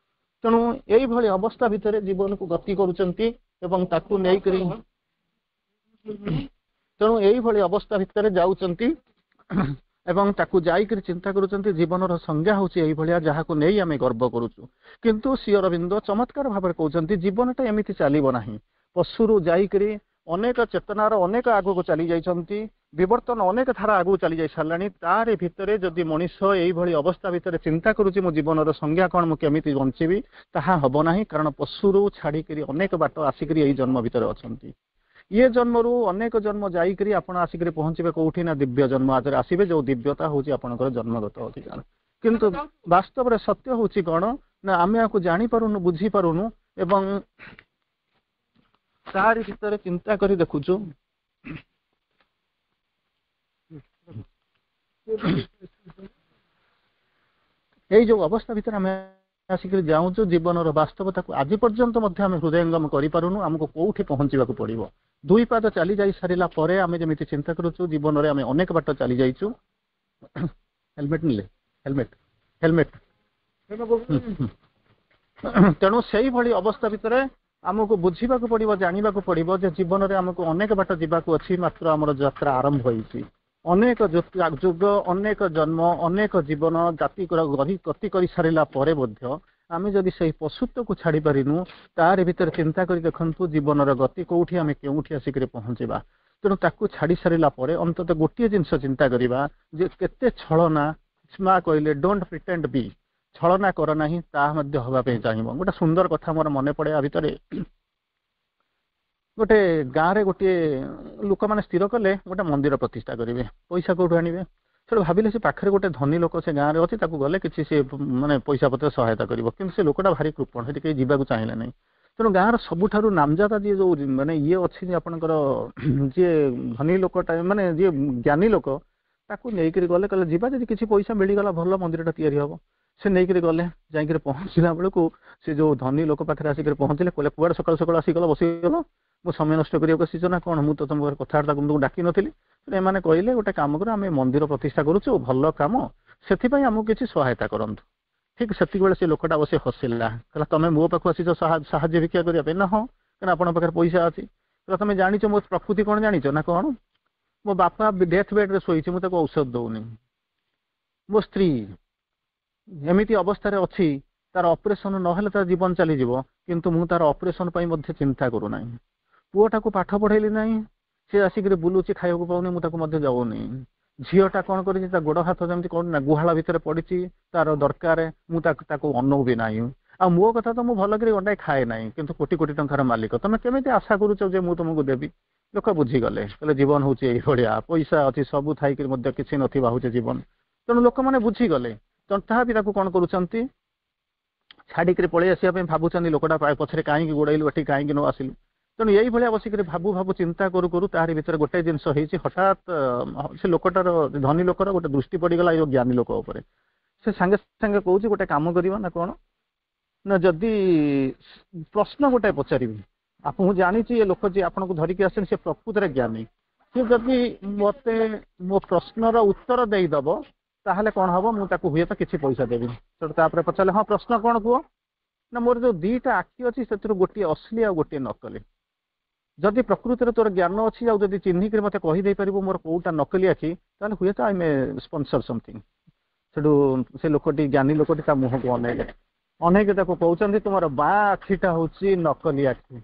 ତେଣୁ ଏଇଭଳି ଅବସ୍ଥା ଭିତରେ ଜୀବନକୁ ଗତି କରୁଛନ୍ତି ଏବଂ ତାକୁ ନେଇକରି, ତେଣୁ ଏଇଭଳି ଅବସ୍ଥା ଭିତରେ ଯାଉଛନ୍ତି ଏବଂ ତାକୁ ଯାଇକରି ଚିନ୍ତା କରୁଛନ୍ତି ଜୀବନର ସଂଜ୍ଞା ହେଉଛି ଏଇଭଳିଆ ଯାହାକୁ ନେଇ ଆମେ ଗର୍ବ କରୁଛୁ। କିନ୍ତୁ ଶ୍ରୀ ଅରବିନ୍ଦ ଚମତ୍କାର ଭାବରେ କହୁଛନ୍ତି ଜୀବନଟା ଏମିତି ଚାଲିବ ନାହିଁ। ପଶୁରୁ ଯାଇକରି ଅନେକ ଚେତନାର ଅନେକ ଆଗକୁ ଚାଲି ଯାଇଛନ୍ତି, ବିବର୍ତ୍ତନ ଅନେକ ଧାରା ଆଗକୁ ଚାଲି ଯାଇ ସାରିଲାଣି। ତାରି ଭିତରେ ଯଦି ମଣିଷ ଏଇଭଳି ଅବସ୍ଥା ଭିତରେ ଚିନ୍ତା କରୁଛି ମୋ ଜୀବନର ସଂଜ୍ଞା କ'ଣ, ମୁଁ କେମିତି ବଞ୍ଚିବି, ତାହା ହବ ନାହିଁ। କାରଣ ପଶୁରୁ ଛାଡ଼ିକରି ଅନେକ ବାଟ ଆସିକରି ଏଇ ଜନ୍ମ ଭିତରେ ଅଛନ୍ତି। ଇଏ ଜନ୍ମରୁ ଅନେକ ଜନ୍ମ ଯାଇକରି ଆପଣ ଆସିକରି ପହଞ୍ଚିବେ କୋଉଠି ନା ଦିବ୍ୟ ଜନ୍ମ ଆଦରେ ଆସିବେ, ଯୋଉ ଦିବ୍ୟତା ହଉଛି ଆପଣଙ୍କର ଜନ୍ମଗତ ଅଧିକାର। କିନ୍ତୁ ବାସ୍ତବରେ ସତ୍ୟ ହଉଛି କ'ଣ ନା ଆମେ ୟାକୁ ଜାଣିପାରୁନୁ, ବୁଝିପାରୁନୁ ଏବଂ ତାରି ଭିତରେ ଚିନ୍ତା କରି ଦେଖୁଛୁ। ଏଇ ଯୋଉ ଅବସ୍ଥା ଭିତରେ ଆମେ ଆସିକରି ଯାଉଛୁ, ଜୀବନର ବାସ୍ତବତାକୁ ଆଜି ପର୍ଯ୍ୟନ୍ତ ମଧ୍ୟ ଆମେ ହୃଦୟଙ୍ଗମ କରିପାରୁନୁ। ଆମକୁ କୋଉଠି ପହଞ୍ଚିବାକୁ ପଡିବ? ଦୁଇ ପାଦ ଚାଲି ଯାଇ ସାରିଲା ପରେ ଆମେ ଯେମିତି ଚିନ୍ତା କରୁଛୁ ଜୀବନରେ ଆମେ ଅନେକ ବାଟ ଚାଲି ଯାଇଛୁ। ହେଲମେଟ ନେଲେ, ହେଲମେଟ ହେଲମେଟ। ତେଣୁ ସେଇଭଳି ଅବସ୍ଥା ଭିତରେ ଆମକୁ ବୁଝିବାକୁ ପଡିବ, ଜାଣିବାକୁ ପଡିବ ଯେ ଜୀବନରେ ଆମକୁ ଅନେକ ବାଟ ଯିବାକୁ ଅଛି, ମାତ୍ର ଆମର ଯାତ୍ରା ଆରମ୍ଭ ହେଇଛି। ଅନେକ ଯୁଗ, ଅନେକ ଜନ୍ମ, ଅନେକ ଜୀବନ ଜାତି ଗତି କରି ସାରିଲା ପରେ ମଧ୍ୟ ଆମେ ଯଦି ସେଇ ପଶୁତ୍ୱକୁ ଛାଡି ପାରିନୁ, ତାରି ଭିତରେ ଚିନ୍ତା କରି ଦେଖନ୍ତୁ ଜୀବନର ଗତି କୋଉଠି, ଆମେ କେଉଁଠି ଆସିକରି ପହଞ୍ଚିବା। ତେଣୁ ତାକୁ ଛାଡି ସାରିଲା ପରେ ଅନ୍ତତଃ ଗୋଟିଏ ଜିନିଷ ଚିନ୍ତା କରିବା ଯେ କେତେ ଛଳନା। ମା କହିଲେ don't pretend ବି, ଛଳନା କର ନାହିଁ, ତାହା ମଧ୍ୟ ହବା ପାଇଁ ଚାହିଁବ। ଗୋଟେ ସୁନ୍ଦର କଥା ମୋର ମନେ ପଡେ ଆ ଭିତରେ। ଗୋଟେ ଗାଁରେ ଗୋଟିଏ ଲୋକମାନେ ସ୍ଥିର କଲେ ଗୋଟେ ମନ୍ଦିର ପ୍ରତିଷ୍ଠା କରିବେ। ପଇସା କୋଉଠୁ ଆଣିବେ? ସେଠୁ ଭାବିଲେ ସେ ପାଖରେ ଗୋଟେ ଧନୀ ଲୋକ ସେ ଗାଁରେ ଅଛି, ତାକୁ ଗଲେ କିଛି ସେ ମାନେ ପଇସା ପତ୍ର ସହାୟତା କରିବ। କିନ୍ତୁ ସେ ଲୋକଟା ଭାରି କୃପଣ, ସେଠି କେହି ଯିବାକୁ ଚାହିଁଲେ ନାହିଁ। ତେଣୁ ଗାଁର ସବୁଠାରୁ ନାମଜାଦା ଯିଏ ଯୋଉ ମାନେ ଇଏ ଅଛି ଆପଣଙ୍କର ଯିଏ ଧନୀ ଲୋକଟା, ମାନେ ଯିଏ ଜ୍ଞାନୀ ଲୋକ, ତାକୁ ନେଇକରି ଗଲେ। କହିଲେ ଯିବା, ଯଦି କିଛି ପଇସା ମିଳିଗଲା ଭଲ ମନ୍ଦିରଟା ତିଆରି ହବ। ସେ ନେଇକରି ଗଲେ, ଯାଇକରି ପହଞ୍ଚିଲା ବେଳକୁ ସେ ଯୋଉ ଧନୀ ଲୋକ ପାଖରେ ଆସିକରି ପହଞ୍ଚିଲେ। କହିଲେ କୁଆଡେ ସକାଳୁ ସକାଳୁ ଆସିଗଲ ବସିଗଲ, ମୁଁ ସମୟ ନଷ୍ଟ କରିବାକୁ ଆସିଛ ନା କ'ଣ? ମୁଁ ତ ତମ କଥାବାର୍ତ୍ତା ତୁମକୁ ଡାକି ନଥିଲି। ଏମାନେ କହିଲେ ଗୋଟେ କାମ କର, ଆମେ ମନ୍ଦିର ପ୍ରତିଷ୍ଠା କରୁଛୁ, ଭଲ କାମ, ସେଥିପାଇଁ ଆମକୁ କିଛି ସହାୟତା କରନ୍ତୁ। ଠିକ ସେତିକି ବେଳେ ସେ ଲୋକଟା ବସି ହସିଲା, କହିଲା ତମେ ମୋ ପାଖକୁ ଆସିଛ ସାହାଯ୍ୟ ଭିକ୍ଷା କରିବା ପାଇଁ? ନା ହଁ, କାରଣ ଆପଣଙ୍କ ପାଖରେ ପଇସା ଅଛି। କହିଲା ତମେ ଜାଣିଛ ମୋ ପ୍ରକୃତି କ'ଣ ଜାଣିଛ ନା କ'ଣ? ମୋ ବାପା ଡେଥ୍ ବେଡ୍ରେ ଶୋଇଛି, ମୁଁ ତାକୁ ଔଷଧ ଦଉନି। ମୋ ସ୍ତ୍ରୀ ଏମିତି ଅବସ୍ଥାରେ ଅଛି, ତାର ଅପରେସନ ନହେଲେ ତାର ଜୀବନ ଚାଲିଯିବ, କିନ୍ତୁ ମୁଁ ତାର ଅପରେସନ ପାଇଁ ମଧ୍ୟ ଚିନ୍ତା କରୁନାହିଁ। ପୁଅଟାକୁ ପାଠ ପଢେଇଲି ନାହିଁ, ସେ ଆସିକିରି ବୁଲୁଛି, ଖାଇବାକୁ ପାଉନି, ମୁଁ ତାକୁ ମଧ୍ୟ ଯାଉନି। ଝିଅଟା କ'ଣ କରିଛି, ତା ଗୋଡ଼ ହାତ ଯେମିତି କ'ଣ ନା ଗୁହାଳ ଭିତରେ ପଡ଼ିଛି, ତାର ଦରକାର, ମୁଁ ତାକୁ ତାକୁ ଅନଉ ବି ନାହିଁ। ଆଉ ମୋ କଥା ତ ମୁଁ ଭଲ କରି ଗଣ୍ଡାଏ ଖାଏ ନାହିଁ, କିନ୍ତୁ କୋଟି କୋଟି ଟଙ୍କାର ମାଲିକ, ତମେ କେମିତି ଆଶା କରୁଛ ଯେ ମୁଁ ତମକୁ ଦେବି? ଲୋକ ବୁଝିଗଲେ, କହିଲେ ଜୀବନ ହଉଛି ଏଇଭଳିଆ, ପଇସା ଅଛି ସବୁ ଥାଇକିରି ମଧ୍ୟ କିଛି ନଥିବା ହଉଛି ଜୀବନ। ତେଣୁ ଲୋକମାନେ ବୁଝିଗଲେ। ତଥାପି ତାକୁ କ'ଣ କରୁଛନ୍ତି, ଛାଡ଼ିକିରି ପଳେଇ ଆସିବା ପାଇଁ ଭାବୁଛନ୍ତି, ଲୋକଟା ପଛରେ କାହିଁକି ଗୋଡ଼େଇଲୁ, ଏଠି କାହିଁକି ନ ଆସିଲୁ। ତେଣୁ ଏଇଭଳିଆ ବସିକିରି ଭାବୁ ଭାବୁ ଚିନ୍ତା କରୁ କରୁ ତାହାରି ଭିତରେ ଗୋଟେ ଜିନିଷ ହେଇଛି। ହଠାତ୍ ସେ ଲୋକଟାର, ଧନୀ ଲୋକର ଗୋଟେ ଦୃଷ୍ଟି ପଡ଼ିଗଲା ଏଇ ଜ୍ଞାନୀ ଲୋକ ଉପରେ। ସେ ସାଙ୍ଗେ ସାଙ୍ଗେ କହୁଛି ଗୋଟେ କାମ କରିବା ନା କ'ଣ ନା, ଯଦି ପ୍ରଶ୍ନ ଗୋଟେ ପଚାରିବି, ଆପଣ ମୁଁ ଜାଣିଛି ଏ ଲୋକ ଯିଏ ଆପଣଙ୍କୁ ଧରିକି ଆସିଛନ୍ତି ସେ ପ୍ରକୃତରେ ଜ୍ଞାନୀ, ସେ ଯଦି ମତେ ମୋ ପ୍ରଶ୍ନର ଉତ୍ତର ଦେଇଦବ ତାହେଲେ କ'ଣ ହବ, ମୁଁ ତାକୁ ହୁଏତ କିଛି ପଇସା ଦେବି। ସେଠୁ ତାପରେ ପଚାରିଲେ ହଁ ପ୍ରଶ୍ନ କ'ଣ କୁହ? ନା ମୋର ଯୋଉ ଦିଟା ଆଖି ଅଛି ସେଥିରୁ ଗୋଟିଏ ଅସଲି ଆଉ ଗୋଟିଏ ନକଲି। ଯଦି ପ୍ରକୃତରେ ତୋର ଜ୍ଞାନ ଅଛି ଆଉ ଯଦି ଚିହ୍ନିକିରି ମତେ କହିଦେଇପାରିବୁ ମୋର କୋଉଟା ନକଲି ଆଖି, ତାହେଲେ ହୁଏତ I May sponsor something. ସେଠୁ ସେ ଲୋକଟି, ଜ୍ଞାନୀ ଲୋକଟି ତା ମୁହଁକୁ ଅନେଇଲେ, ଅନେଇକି ତାକୁ କହୁଛନ୍ତି ତୁମର ବାଁ ଆଖିଟା ହଉଛି ନକଲି ଆଖି।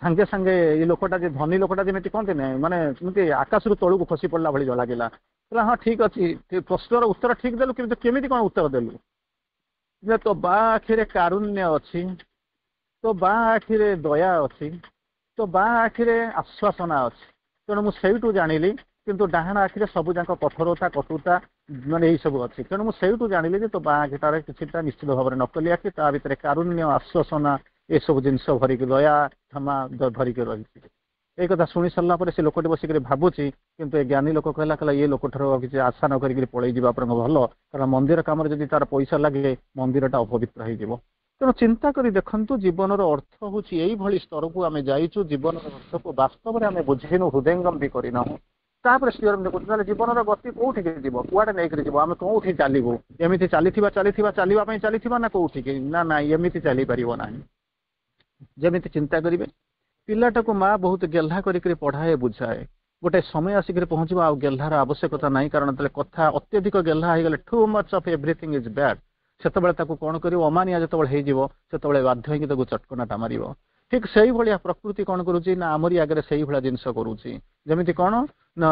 ସାଙ୍ଗେ ସାଙ୍ଗେ ଏଇ ଲୋକଟା, ଯେ ଧନୀ ଲୋକଟା, ଯେମିତି କହନ୍ତି ନା ମାନେ ଯେମିତି ଆକାଶରୁ ତଳକୁ ଖସି ପଡିଲା ଭଳି ଲାଗିଲା। କହିଲା ହଁ ଠିକ ଅଛି, ପ୍ରଶ୍ନର ଉତ୍ତର ଠିକ ଦେଲୁ, କିନ୍ତୁ କେମିତି କ'ଣ ଉତ୍ତର ଦେଲୁ? ଯେ ତୋ ବାଁ ଆଖିରେ କାରୁଣ୍ୟ ଅଛି, ତୋ ବାଁ ଆଖିରେ ଦୟା ଅଛି, ତୋ ବାଁ ଆଖିରେ ଆଶ୍ୱାସନା ଅଛି। ତେଣୁ ମୁଁ ସେଇଠୁ ଜାଣିଲି, କିନ୍ତୁ ଡାହାଣ ଆଖିରେ ସବୁ ଯାକ କଠୋରତା, କଟୁତା ମାନେ ଏଇ ସବୁ ଅଛି ତେଣୁ ମୁଁ ସେଇଠୁ ଜାଣିଲି ଯେ ତୋ ବାଁ ଆଖିଟାରେ କିଛିଟା ନିଶ୍ଚିତ ଭାବରେ ନକଲି ଆଖି ତା ଭିତରେ କାରୁଣ୍ୟ ଆଶ୍ୱାସନା ଏସବୁ ଜିନିଷ ଭରିକି ଦୟା କ୍ଷମା ଭରିକି ରହିଛି ଏଇ କଥା ଶୁଣି ସାରିଲା ପରେ ସେ ଲୋକଟି ବସିକରି ଭାବୁଛି କିନ୍ତୁ ଏ ଜ୍ଞାନୀ ଲୋକ କହିଲା କହିଲା ଇଏ ଲୋକଠାରୁ ଆଉ କିଛି ଆଶା ନ କରିକି ପଳେଇ ଯିବା ବରଂ ଭଲ କାରଣ ମନ୍ଦିର କାମରେ ଯଦି ତାର ପଇସା ଲାଗେ ମନ୍ଦିରଟା ଅପବିତ୍ର ହେଇଯିବ ତେଣୁ ଚିନ୍ତା କରି ଦେଖନ୍ତୁ ଜୀବନର ଅର୍ଥ ହଉଛି ଏଇଭଳି ସ୍ତରକୁ ଆମେ ଯାଇଛୁ ଜୀବନର ଅର୍ଥକୁ ବାସ୍ତବରେ ଆମେ ବୁଝିନୁ ହୃଦୟଙ୍ଗମ ବି କରିନାହୁଁ ତାପରେ ଶ୍ରୀ ଅରବିନ୍ଦ କହୁଛନ୍ତି ତାହେଲେ ଜୀବନର ଗତି କୋଉଠିକି ଯିବ କୁଆଡେ ନେଇକରି ଯିବ ଆମେ କୋଉଠି ଚାଲିବୁ ଏମିତି ଚାଲିଥିବା ଚାଲିଥିବା ଚାଲିବା ପାଇଁ ଚାଲିଥିବା ନା କୋଉଠିକି ନା ନାଇଁ ଏମିତି ଚାଲିପାରିବ ନାହିଁ ଯେମିତି ଚିନ୍ତା କରିବେ ପିଲାଟାକୁ ମା ବହୁତ ଗେହ୍ଲା କରିକିରି ପଢାଏ ବୁଝାଏ ଗୋଟେ ସମୟ ଆସିକରି ପହଞ୍ଚିବ ଆଉ ଗେହ୍ଲାର ଆବଶ୍ୟକତା ନାହିଁ କାରଣ ଯେତେବେଳେ କଥା ଅତ୍ୟଧିକ ଗେହ୍ଲା ହେଇଗଲେ too much of everything is bad ସେତେବେଳେ ତାକୁ କଣ କରିବ ଅମାନିଆ ଯେତେବେଳେ ହେଇଯିବ ସେତେବେଳେ ବାଧ୍ୟ ହେଇକି ତାକୁ ଚଟକଣାଟା ମାରିବ ଠିକ ସେଇଭଳିଆ ପ୍ରକୃତି କଣ କରୁଛି ନା ଆମରି ଆଗରେ ସେଇଭଳିଆ ଜିନିଷ କରୁଛି ଯେମିତି କଣ ନା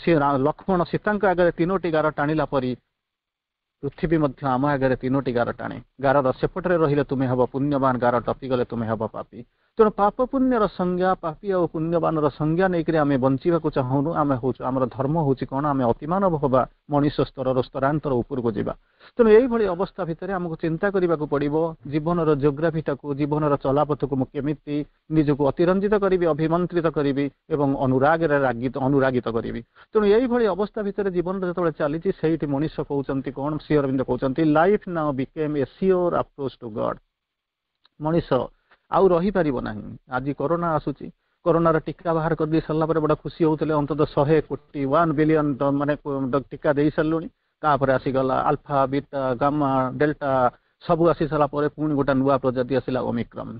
ସିଏ ଲକ୍ଷ୍ମଣ ସୀତାଙ୍କ ଆଗରେ ତିନୋଟି ଗାର ଟାଣିଲା ପରି ପୃଥିବୀ ମଧ୍ୟ ଆମ ଆଗରେ ତିନୋଟି ଗାର ଟାଣେ ଗାରର ସେପଟରେ ରହିଲେ ତୁମେ ହବ ପୁଣ୍ୟବାନ ଗାର ଟପିଗଲେ ତୁମେ ହବ ପାପୀ ତେଣୁ ପାପ ପୁଣ୍ୟର ସଂଜ୍ଞା ପାପୀ ଆଉ ପୁଣ୍ୟବାନର ସଂଜ୍ଞା ନେଇକରି ଆମେ ବଞ୍ଚିବାକୁ ଚାହୁଁନୁ ଆମେ ହଉଛୁ ଆମର ଧର୍ମ ହଉଛି କଣ ଆମେ ଅତିମାନବ ହବା ମଣିଷ ସ୍ତରର ସ୍ତରାନ୍ତର ଉପରକୁ ଯିବା ତେଣୁ ଏଇଭଳି ଅବସ୍ଥା ଭିତରେ ଆମକୁ ଚିନ୍ତା କରିବାକୁ ପଡିବ ଜୀବନର ଜିଓଗ୍ରାଫିଟାକୁ ଜୀବନର ଚଲାପଥକୁ ମୁଁ କେମିତି ନିଜକୁ ଅତିରଞ୍ଜିତ କରିବି ଅଭିମନ୍ତ୍ରିତ କରିବି ଏବଂ ଅନୁରାଗରେ ରାଗିତ ଅନୁରାଗିତ କରିବି ତେଣୁ ଏଇଭଳି ଅବସ୍ଥା ଭିତରେ ଜୀବନଟା ଯେତେବେଳେ ଚାଲିଛି ସେଇଠି ମଣିଷ କହୁଛନ୍ତି କଣ ଶ୍ରୀ ଅରବିନ୍ଦ କହୁଛନ୍ତି life now became a sure approach to God ମଣିଷ ଆଉ ରହିପାରିବ ନାହିଁ ଆଜି କରୋନା ଆସୁଛି କରୋନାର ଟୀକା ବାହାର କରିଦେଇ ସାରିଲା ପରେ ବଡ ଖୁସି ହଉଥିଲେ ଅନ୍ତତଃ ଶହେ କୋଟି ୱାନ୍ ବିଲିୟନ ମାନେ ଟୀକା ଦେଇ ସାରିଲୁଣି ତାପରେ ଆସିଗଲା ଆଲଫା ବିଟା ଗାମା ଡେଲ୍ଟା ସବୁ ଆସି ସାରିଲା ପରେ ପୁଣି ଗୋଟେ ନୂଆ ପ୍ରଜାତି ଆସିଲା ଓମିକ୍ରନ୍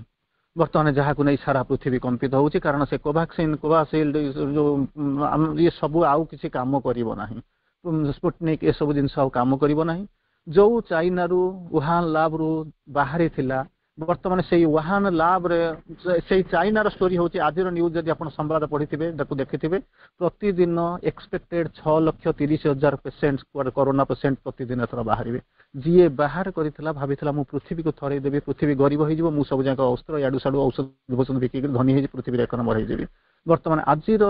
ବର୍ତ୍ତମାନ ଯାହାକୁ ନେଇ ସାରା ପୃଥିବୀ କମ୍ପିତ ହଉଛି କାରଣ ସେ କୋଭାକ୍ସିନ କୋଭାସିଲ୍ଡ ଯୋଉ ଇଏ ସବୁ ଆଉ କିଛି କାମ କରିବ ନାହିଁ ସ୍ପୁଟନିକ୍ ଏସବୁ ଜିନିଷ ଆଉ କାମ କରିବ ନାହିଁ ଯୋଉ ଚାଇନାରୁ ଉହାନ ଲାବରୁ ବାହାରିଥିଲା ବର୍ତ୍ତମାନ ସେଇ ୱାହାନ ଲାବରେ ସେଇ ଚାଇନାର ଷ୍ଟୋରି ହଉଛି ଆଜିର ନ୍ୟୁଜ ଯଦି ଆପଣ ସମ୍ବାଦ ପଢିଥିବେ ତାକୁ ଦେଖିଥିବେ ପ୍ରତିଦିନ ଏକ୍ସପେକ୍ଟେଡ ଛଅ ଲକ୍ଷ ତିରିଶ ହଜାର ପେସେଣ୍ଟ କରୋନା ପେସେଣ୍ଟ ପ୍ରତିଦିନ ଏଥର ବାହାରିବେ ଯିଏ ବାହାର କରିଥିଲା ଭାବିଥିଲା ମୁଁ ପୃଥିବୀକୁ ଥରେଇ ଦେବି ପୃଥିବୀ ଗରିବ ହେଇଯିବ ମୁଁ ସବୁ ଯାକ ଅସ୍ତ୍ର ଇଆଡୁ ସାଡୁ ଔଷଧ ଫୌଷଧ ବିକିକି ଧନୀ ହେଇଛି ପୃଥିବୀରେ ଏକ ନମ୍ବର ହେଇଯିବି ବର୍ତ୍ତମାନ ଆଜିର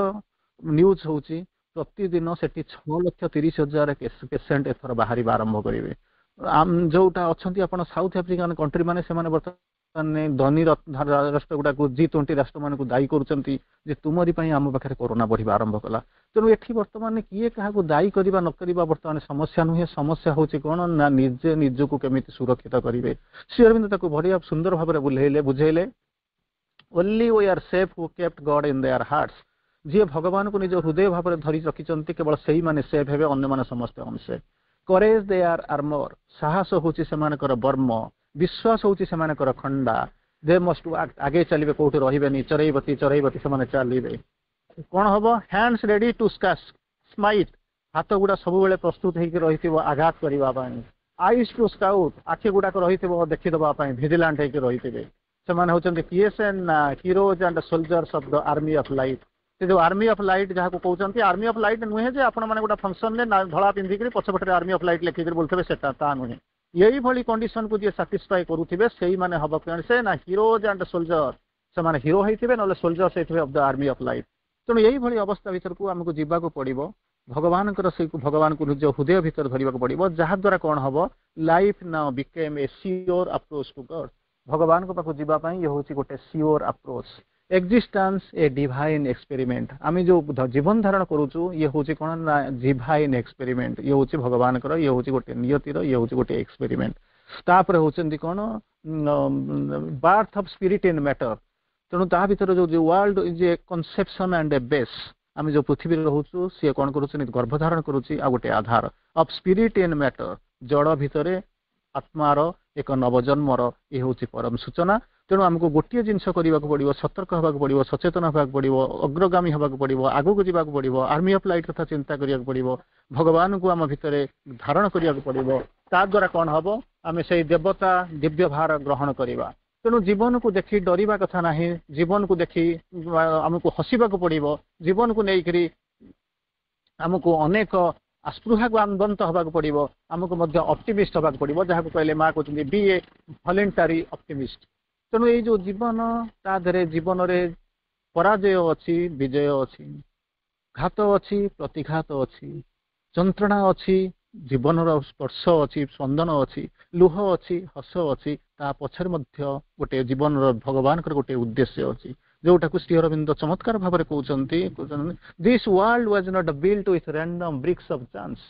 ନ୍ୟୁଜ ହଉଛି ପ୍ରତିଦିନ ସେଠି ଛଅ ଲକ୍ଷ ତିରିଶ ହଜାର ପେସେଣ୍ଟ ଏଥର ବାହାରିବା ଆରମ୍ଭ କରିବେ ଯୋଉଟା ଅଛନ୍ତି ଆପଣ ସାଉଥ ଆଫ୍ରିକାନ କଣ୍ଟ୍ରି ମାନେ ସେମାନେ ବର୍ତ୍ତମାନ ଧନୀ ରାଷ୍ଟ୍ର ଗୁଡାକୁ ଜି ଟ୍ୱେଣ୍ଟି ରାଷ୍ଟ୍ରମାନଙ୍କୁ ଦାୟୀ କରୁଛନ୍ତି ଯେ ତୁମରି ପାଇଁ ଆମ ପାଖରେ କରୋନା ବଢିବା ଆରମ୍ଭ କଲା ତେଣୁ ଏଠି ବର୍ତ୍ତମାନ କିଏ କାହାକୁ ଦାୟୀ କରିବା ନ କରିବା ବର୍ତ୍ତମାନ ସମସ୍ୟା ନୁହେଁ ସମସ୍ୟା ହଉଛି କଣ ନା ନିଜେ ନିଜକୁ କେମିତି ସୁରକ୍ଷିତ କରିବେ ଶ୍ରୀ ଅରବିନ୍ଦ ତାକୁ ବଢିଆ ସୁନ୍ଦର ଭାବରେ ବୁଝେଇଲେ ବୁଝେଇଲେ only were safe who kept God in their hearts ଯିଏ ଭଗବାନଙ୍କୁ ନିଜ ହୃଦୟ ଭାବରେ ଧରି ରଖିଛନ୍ତି କେବଳ ସେଇମାନେ ସେଫ୍ ହେବେ ଅନ୍ୟମାନେ ସମସ୍ତେ ଅନସେଫ୍ courage their armour ସାହସ ହଉଛି ସେମାନଙ୍କର ବର୍ମ ବିଶ୍ୱାସ ହଉଛି ସେମାନଙ୍କର ଖଣ୍ଡା they must ଆଗେଇ ଚାଲିବେ କୋଉଠି ରହିବେନି ଚରେଇବତୀ ଚରେଇବତୀ ସେମାନେ ଚାଲିବେ କଣ ହବ hands ready to smite ହାତ ଗୁଡା ସବୁବେଳେ ପ୍ରସ୍ତୁତ ହେଇକି ରହିଥିବ ଆଘାତ କରିବା ପାଇଁ ଆଇସ୍ ଟୁ ସ୍କାଉଟ୍ ଆଖି ଗୁଡାକ ରହିଥିବ ଦେଖିଦବା ପାଇଁ ଭିଜିଲାଣ୍ଟ ହେଇକି ରହିଥିବେ ସେମାନେ ହଉଛନ୍ତି କିଏ ସେ ନା heroes and soldiers of the army of light ସେ ଯୋଉ ଆର୍ମି ଅଫ ଲାଇଟ୍ ଯାହାକୁ କହୁଛନ୍ତି ଆର୍ମି ଅଫ ଲାଇଟ୍ ନୁହେଁ ଯେ ଆପଣ ମାନେ ଗୋଟେ ଫଙ୍କସନରେ ଧଳା ପିନ୍ଧିକିରି ପଛପଟରେ ଆର୍ମି ଅଫ ଲାଇଟ୍ ଲେଖିକିରି ବୁଲୁଥିବେ ସେଟା ତା ନୁହେଁ ଏଇଭଳି କଣ୍ଡିସନକୁ ଯିଏ ସାଟିସ୍ଫାଇ କରୁଥିବେ ସେଇମାନେ ହବ ସେ ନା ହିରୋଜ ଆଣ୍ଡ ସୋଲଜର ସେମାନେ ହିରୋ ହେଇଥିବେ ନହେଲେ ସୋଲଜର୍ସ ହେଇଥିବେ of the army of light ତେଣୁ ଏଇଭଳି ଅବସ୍ଥା ଭିତରକୁ ଆମକୁ ଯିବାକୁ ପଡିବ ଭଗବାନଙ୍କର ସେଇ ଭଗବାନଙ୍କୁ ନିଜ ହୃଦୟ ଭିତରେ ଧରିବାକୁ ପଡିବ ଯାହାଦ୍ୱାରା କଣ ହବ life now became a sure approach to God ଭଗବାନଙ୍କ ପାଖକୁ ଯିବା ପାଇଁ ଇଏ ହଉଛି ଗୋଟେ sure approach existence a divine experiment ଆମେ ଯୋଉ ଜୀବନ ଧାରଣ କରୁଛୁ ଇଏ ହଉଛି କଣ ନା ଡିଭାଇନ୍ ଏକ୍ସପେରିମେଣ୍ଟ ଇଏ ହଉଛି ଭଗବାନଙ୍କର ଇଏ ହଉଛି ଗୋଟେ ନିୟତିର ଇଏ ହଉଛି ଗୋଟେ ଏକ୍ସପେରିମେଣ୍ଟ ତାପରେ ହଉଛନ୍ତି କଣ birth of spirit in matter ତେଣୁ ତା ଭିତରେ ଯୋଉ world is a conception and a base ଆମେ ଯୋଉ ପୃଥିବୀରେ ରହୁଛୁ ସିଏ କଣ କରୁଛି ଗର୍ଭଧାରଣ କରୁଛି ଆଉ ଗୋଟେ ଆଧାର ଅଫ ସ୍ପିରିଟ ଇନ୍ ମ୍ୟାଟର ଜଡ଼ ଭିତରେ ଆତ୍ମାର ଏକ ନବଜନ୍ମର ଇଏ ହଉଛି ପରମ ସୂଚନା ତେଣୁ ଆମକୁ ଗୋଟିଏ ଜିନିଷ କରିବାକୁ ପଡିବ ସତର୍କ ହେବାକୁ ପଡିବ ସଚେତନ ହେବାକୁ ପଡିବ ଅଗ୍ରଗାମୀ ହେବାକୁ ପଡିବ ଆଗକୁ ଯିବାକୁ ପଡିବ ଆର୍ମି ଅଫ ଲାଇଟ୍ କଥା ଚିନ୍ତା କରିବାକୁ ପଡିବ ଭଗବାନଙ୍କୁ ଆମ ଭିତରେ ଧାରଣ କରିବାକୁ ପଡିବ ତା ଦ୍ୱାରା କଣ ହବ ଆମେ ସେଇ ଦେବତା ଦିବ୍ୟ ଭାର ଗ୍ରହଣ କରିବା ତେଣୁ ଜୀବନକୁ ଦେଖି ଡରିବା କଥା ନାହିଁ ଜୀବନକୁ ଦେଖି ଆମକୁ ହସିବାକୁ ପଡିବ ଜୀବନକୁ ନେଇକରି ଆମକୁ ଅନେକ ଆସ୍ପୃହାନ୍ୱନ୍ତ ହେବାକୁ ପଡିବ ଆମକୁ ମଧ୍ୟ ଅପ୍ଟିମିଷ୍ଟ ହେବାକୁ ପଡିବ ଯାହାକୁ କହିଲେ ମା କହୁଛନ୍ତି be a voluntary optimist ତେଣୁ ଏଇ ଯୋଉ ଜୀବନ ତା ଦେହରେ ଜୀବନରେ ପରାଜୟ ଅଛି ବିଜୟ ଅଛି ଘାତ ଅଛି ପ୍ରତିଘାତ ଅଛି ଯନ୍ତ୍ରଣା ଅଛି ଜୀବନର ସ୍ପର୍ଶ ଅଛି, ସ୍ପନ୍ଦନ ଅଛି, ଲୁହ ଅଛି, ହସ ଅଛି, ତା ପଛରେ ମଧ୍ୟ ଗୋଟେ ଜୀବନର ଭଗବାନଙ୍କର ଗୋଟେ ଉଦ୍ଦେଶ୍ୟ ଅଛି, ଯୋଉଟାକୁ ଶ୍ରୀ ଅରବିନ୍ଦ ଚମତ୍କାର ଭାବରେ କହୁଛନ୍ତି କହୁଛନ୍ତି "This world was not built with random bricks of chance."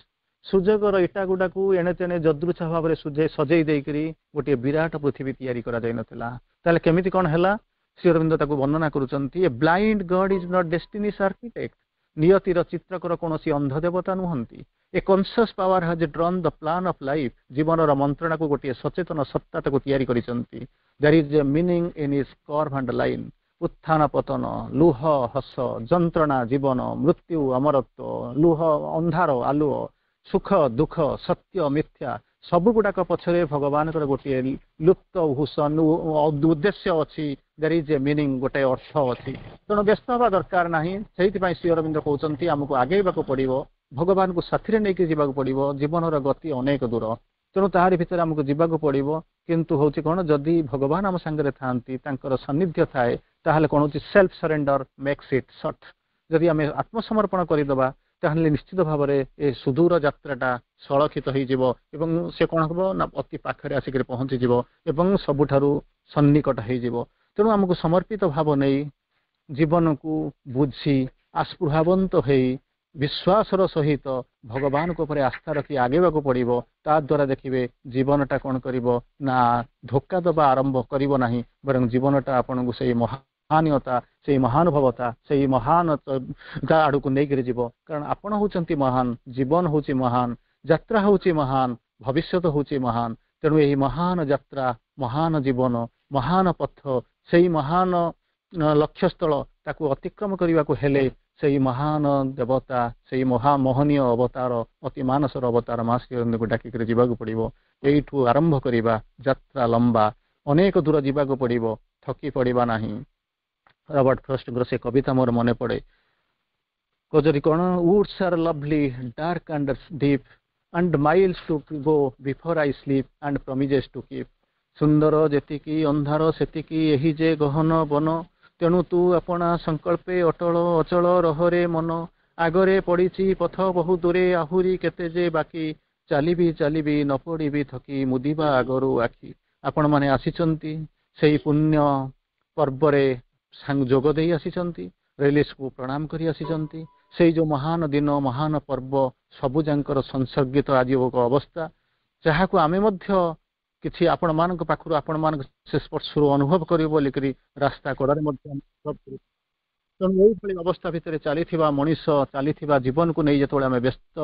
ସୁଯୋଗର ଇଟା ଗୁଡାକୁ ଏଣେ ତେଣେ ଯଦୃଚ୍ଛା ଭାବରେ ସଜେଇ ଦେଇକରି ଗୋଟିଏ ବିରାଟ ପୃଥିବୀ ତିଆରି କରାଯାଇ ନଥିଲା। ତାହେଲେ କେମିତି କଣ ହେଲା? ଶ୍ରୀ ଅରବିନ୍ଦ ତାକୁ ବର୍ଣ୍ଣନା କରୁଛନ୍ତି, "A blind God is not destiny's architect." ନିୟତିର ଚିତ୍ରକର କୌଣସି ଅନ୍ଧ ଦେବତା ନୁହନ୍ତି। "A conscious power has drawn the plan of life." ଜୀବନର ମନ୍ତ୍ରଣାକୁ ଗୋଟିଏ ସଚେତନ ସତ୍ତା ତାକୁ ତିଆରି କରିଛନ୍ତି। "There is a meaning in its curve and line." ଉତ୍ଥାନ ପତନ, ଲୁହ ହସ, ଯନ୍ତ୍ରଣା, ଜୀବନ, ମୃତ୍ୟୁ, ଅମରତ୍ୱ, ଲୁହ, ଅନ୍ଧାର, ଆଲୁଅ, ସୁଖ, ଦୁଃଖ, ସତ୍ୟ, ମିଥ୍ୟା, ସବୁ ଗୁଡାକ ପଛରେ ଭଗବାନଙ୍କର ଗୋଟିଏ ଲୁପ୍ତ ଉଦ୍ଦେଶ୍ୟ ଅଛି। There is a meaning, ଗୋଟେ ଅର୍ଥ ଅଛି। ତେଣୁ ବ୍ୟସ୍ତ ହେବା ଦରକାର ନାହିଁ। ସେଇଥିପାଇଁ ଶ୍ରୀ ଅରବିନ୍ଦ କହୁଛନ୍ତି, ଆମକୁ ଆଗେଇବାକୁ ପଡିବ, ଭଗବାନଙ୍କୁ ସାଥିରେ ନେଇକି ଯିବାକୁ ପଡିବ। ଜୀବନର ଗତି ଅନେକ ଦୂର, ତେଣୁ ତାହାରି ଭିତରେ ଆମକୁ ଯିବାକୁ ପଡିବ। କିନ୍ତୁ ହଉଛି କଣ, ଯଦି ଭଗବାନ ଆମ ସାଙ୍ଗରେ ଥାଆନ୍ତି, ତାଙ୍କର ସାନ୍ନିଧ୍ୟ ଥାଏ, ତାହେଲେ କଣ ହଉଛି, self surrender makes it short. ଯଦି ଆମେ ଆତ୍ମସମର୍ପଣ କରିଦେବା, ତାହେଲେ ନିଶ୍ଚିତ ଭାବରେ ଏ ସୁଦୂର ଯାତ୍ରାଟା ସଳଖିତ ହେଇଯିବ ଏବଂ ସେ କଣ ହବ ନା ଅତି ପାଖରେ ଆସିକରି ପହଞ୍ଚିଯିବ ଏବଂ ସବୁଠାରୁ ସନ୍ନିକଟ ହେଇଯିବ। ତେଣୁ ଆମକୁ ସମର୍ପିତ ଭାବ ନେଇ, ଜୀବନକୁ ବୁଝି, ଆସ୍ପୃହାବନ୍ତ ହେଇ, ବିଶ୍ୱାସର ସହିତ ଭଗବାନଙ୍କ ଉପରେ ଆସ୍ଥା ରଖି ଆଗେଇବାକୁ ପଡିବ। ତା ଦ୍ୱାରା ଦେଖିବେ, ଜୀବନଟା କଣ କରିବ ନା ଧୋକା ଦେବା ଆରମ୍ଭ କରିବ ନାହିଁ, ବରଂ ଜୀବନଟା ଆପଣଙ୍କୁ ସେଇ ମହାନୀୟତା, ସେଇ ମହାନୁଭବତା, ସେଇ ମହାନ ଆଡକୁ ନେଇକରି ଯିବ। କାରଣ ଆପଣ ହଉଛନ୍ତି ମହାନ, ଜୀବନ ହଉଛି ମହାନ, ଯାତ୍ରା ହଉଛି ମହାନ, ଭବିଷ୍ୟତ ହଉଛି ମହାନ। ତେଣୁ ଏହି ମହାନ ଯାତ୍ରା, ମହାନ ଜୀବନ, ମହାନ ପଥ, ସେଇ ମହାନ ଲକ୍ଷ୍ୟସ୍ଥଳ, ତାକୁ ଅତିକ୍ରମ କରିବାକୁ ହେଲେ ସେଇ ମହାନ ଦେବତା, ସେଇ ମହା ମହନୀୟ ଅବତାର, ଅତି ମାନସର ଅବତାର ମା ଶ୍ରୀ ଡାକିକରି ଯିବାକୁ ପଡିବ। ଏଇଠୁ ଆରମ୍ଭ କରିବା। ଯାତ୍ରା ଲମ୍ବା, ଅନେକ ଦୂର ଯିବାକୁ ପଡିବ, ଥକି ପଡିବା ନାହିଁ। ରବର୍ଟ ଫ୍ରଷ୍ଟଙ୍କର ସେ କବିତା ମୋର ମନେ ପଡେ, କଜରି କଣ, "Woods are lovely, dark and deep, and miles to go before I sleep, and promises to keep." ସୁନ୍ଦର ଯେତିକି ଅନ୍ଧାର ସେତିକି ଏହି ଯେ ଗହନ ବନ, ତେଣୁ ତୁ ଆପଣା ସଂକଳ୍ପେ ଅଟଳ ଅଚଳ ରହରେ ମନ। ଆଗରେ ପଡିଛି ପଥ ବହୁ ଦୂରେ, ଆହୁରି କେତେ ଯେ ବାକି, ଚାଲିବି ଚାଲିବି ନ ପଡିବି ଥକି, ମୁଦିବା ଆଗରୁ ଆଖି। ଆପଣମାନେ ଆସିଛନ୍ତି, ସେଇ ପୁଣ୍ୟ ପର୍ବରେ ଯୋଗ ଦେଇ ଆସିଛନ୍ତି, ରିଲିକ୍ସକୁ ପ୍ରଣାମ କରି ଆସିଛନ୍ତି। ସେଇ ଯୋଉ ମହାନ ଦିନ, ମହାନ ପର୍ବ, ସବୁଯାଙ୍କର ସଂସର୍ଗିତ ଆଜି ଏକ ଅବସ୍ଥା, ଯାହାକୁ ଆମେ ମଧ୍ୟ କିଛି ଆପଣମାନଙ୍କ ପାଖରୁ, ଆପଣମାନଙ୍କ ସେ ସ୍ପର୍ଶରୁ ଅନୁଭବ କରିବୁ ବୋଲିକରି ରାସ୍ତା କଡ଼ରେ ମଧ୍ୟ ଅନୁଭବ କରୁ। ତେଣୁ ଏଇଭଳି ଅବସ୍ଥା ଭିତରେ ଚାଲିଥିବା ମଣିଷ, ଚାଲିଥିବା ଜୀବନକୁ ନେଇ ଯେତେବେଳେ ଆମେ ବ୍ୟସ୍ତ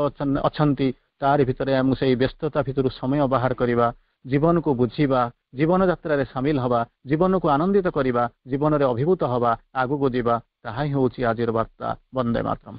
ଅଛନ୍ତି, ତାରି ଭିତରେ ଆମକୁ ସେଇ ବ୍ୟସ୍ତତା ଭିତରୁ ସମୟ ବାହାର କରିବା, ଜୀବନକୁ ବୁଝିବା, ଜୀବନ ଯାତ୍ରାରେ ସାମିଲ ହବା, ଜୀବନକୁ ଆନନ୍ଦିତ କରିବା, ଜୀବନରେ ଅଭିଭୂତ ହବା, ଆଗକୁ ଯିବା, ତାହା ହିଁ ହେଉଛି ଆଜିର ବାର୍ତ୍ତା। ବନ୍ଦେ ମାତରମ୍।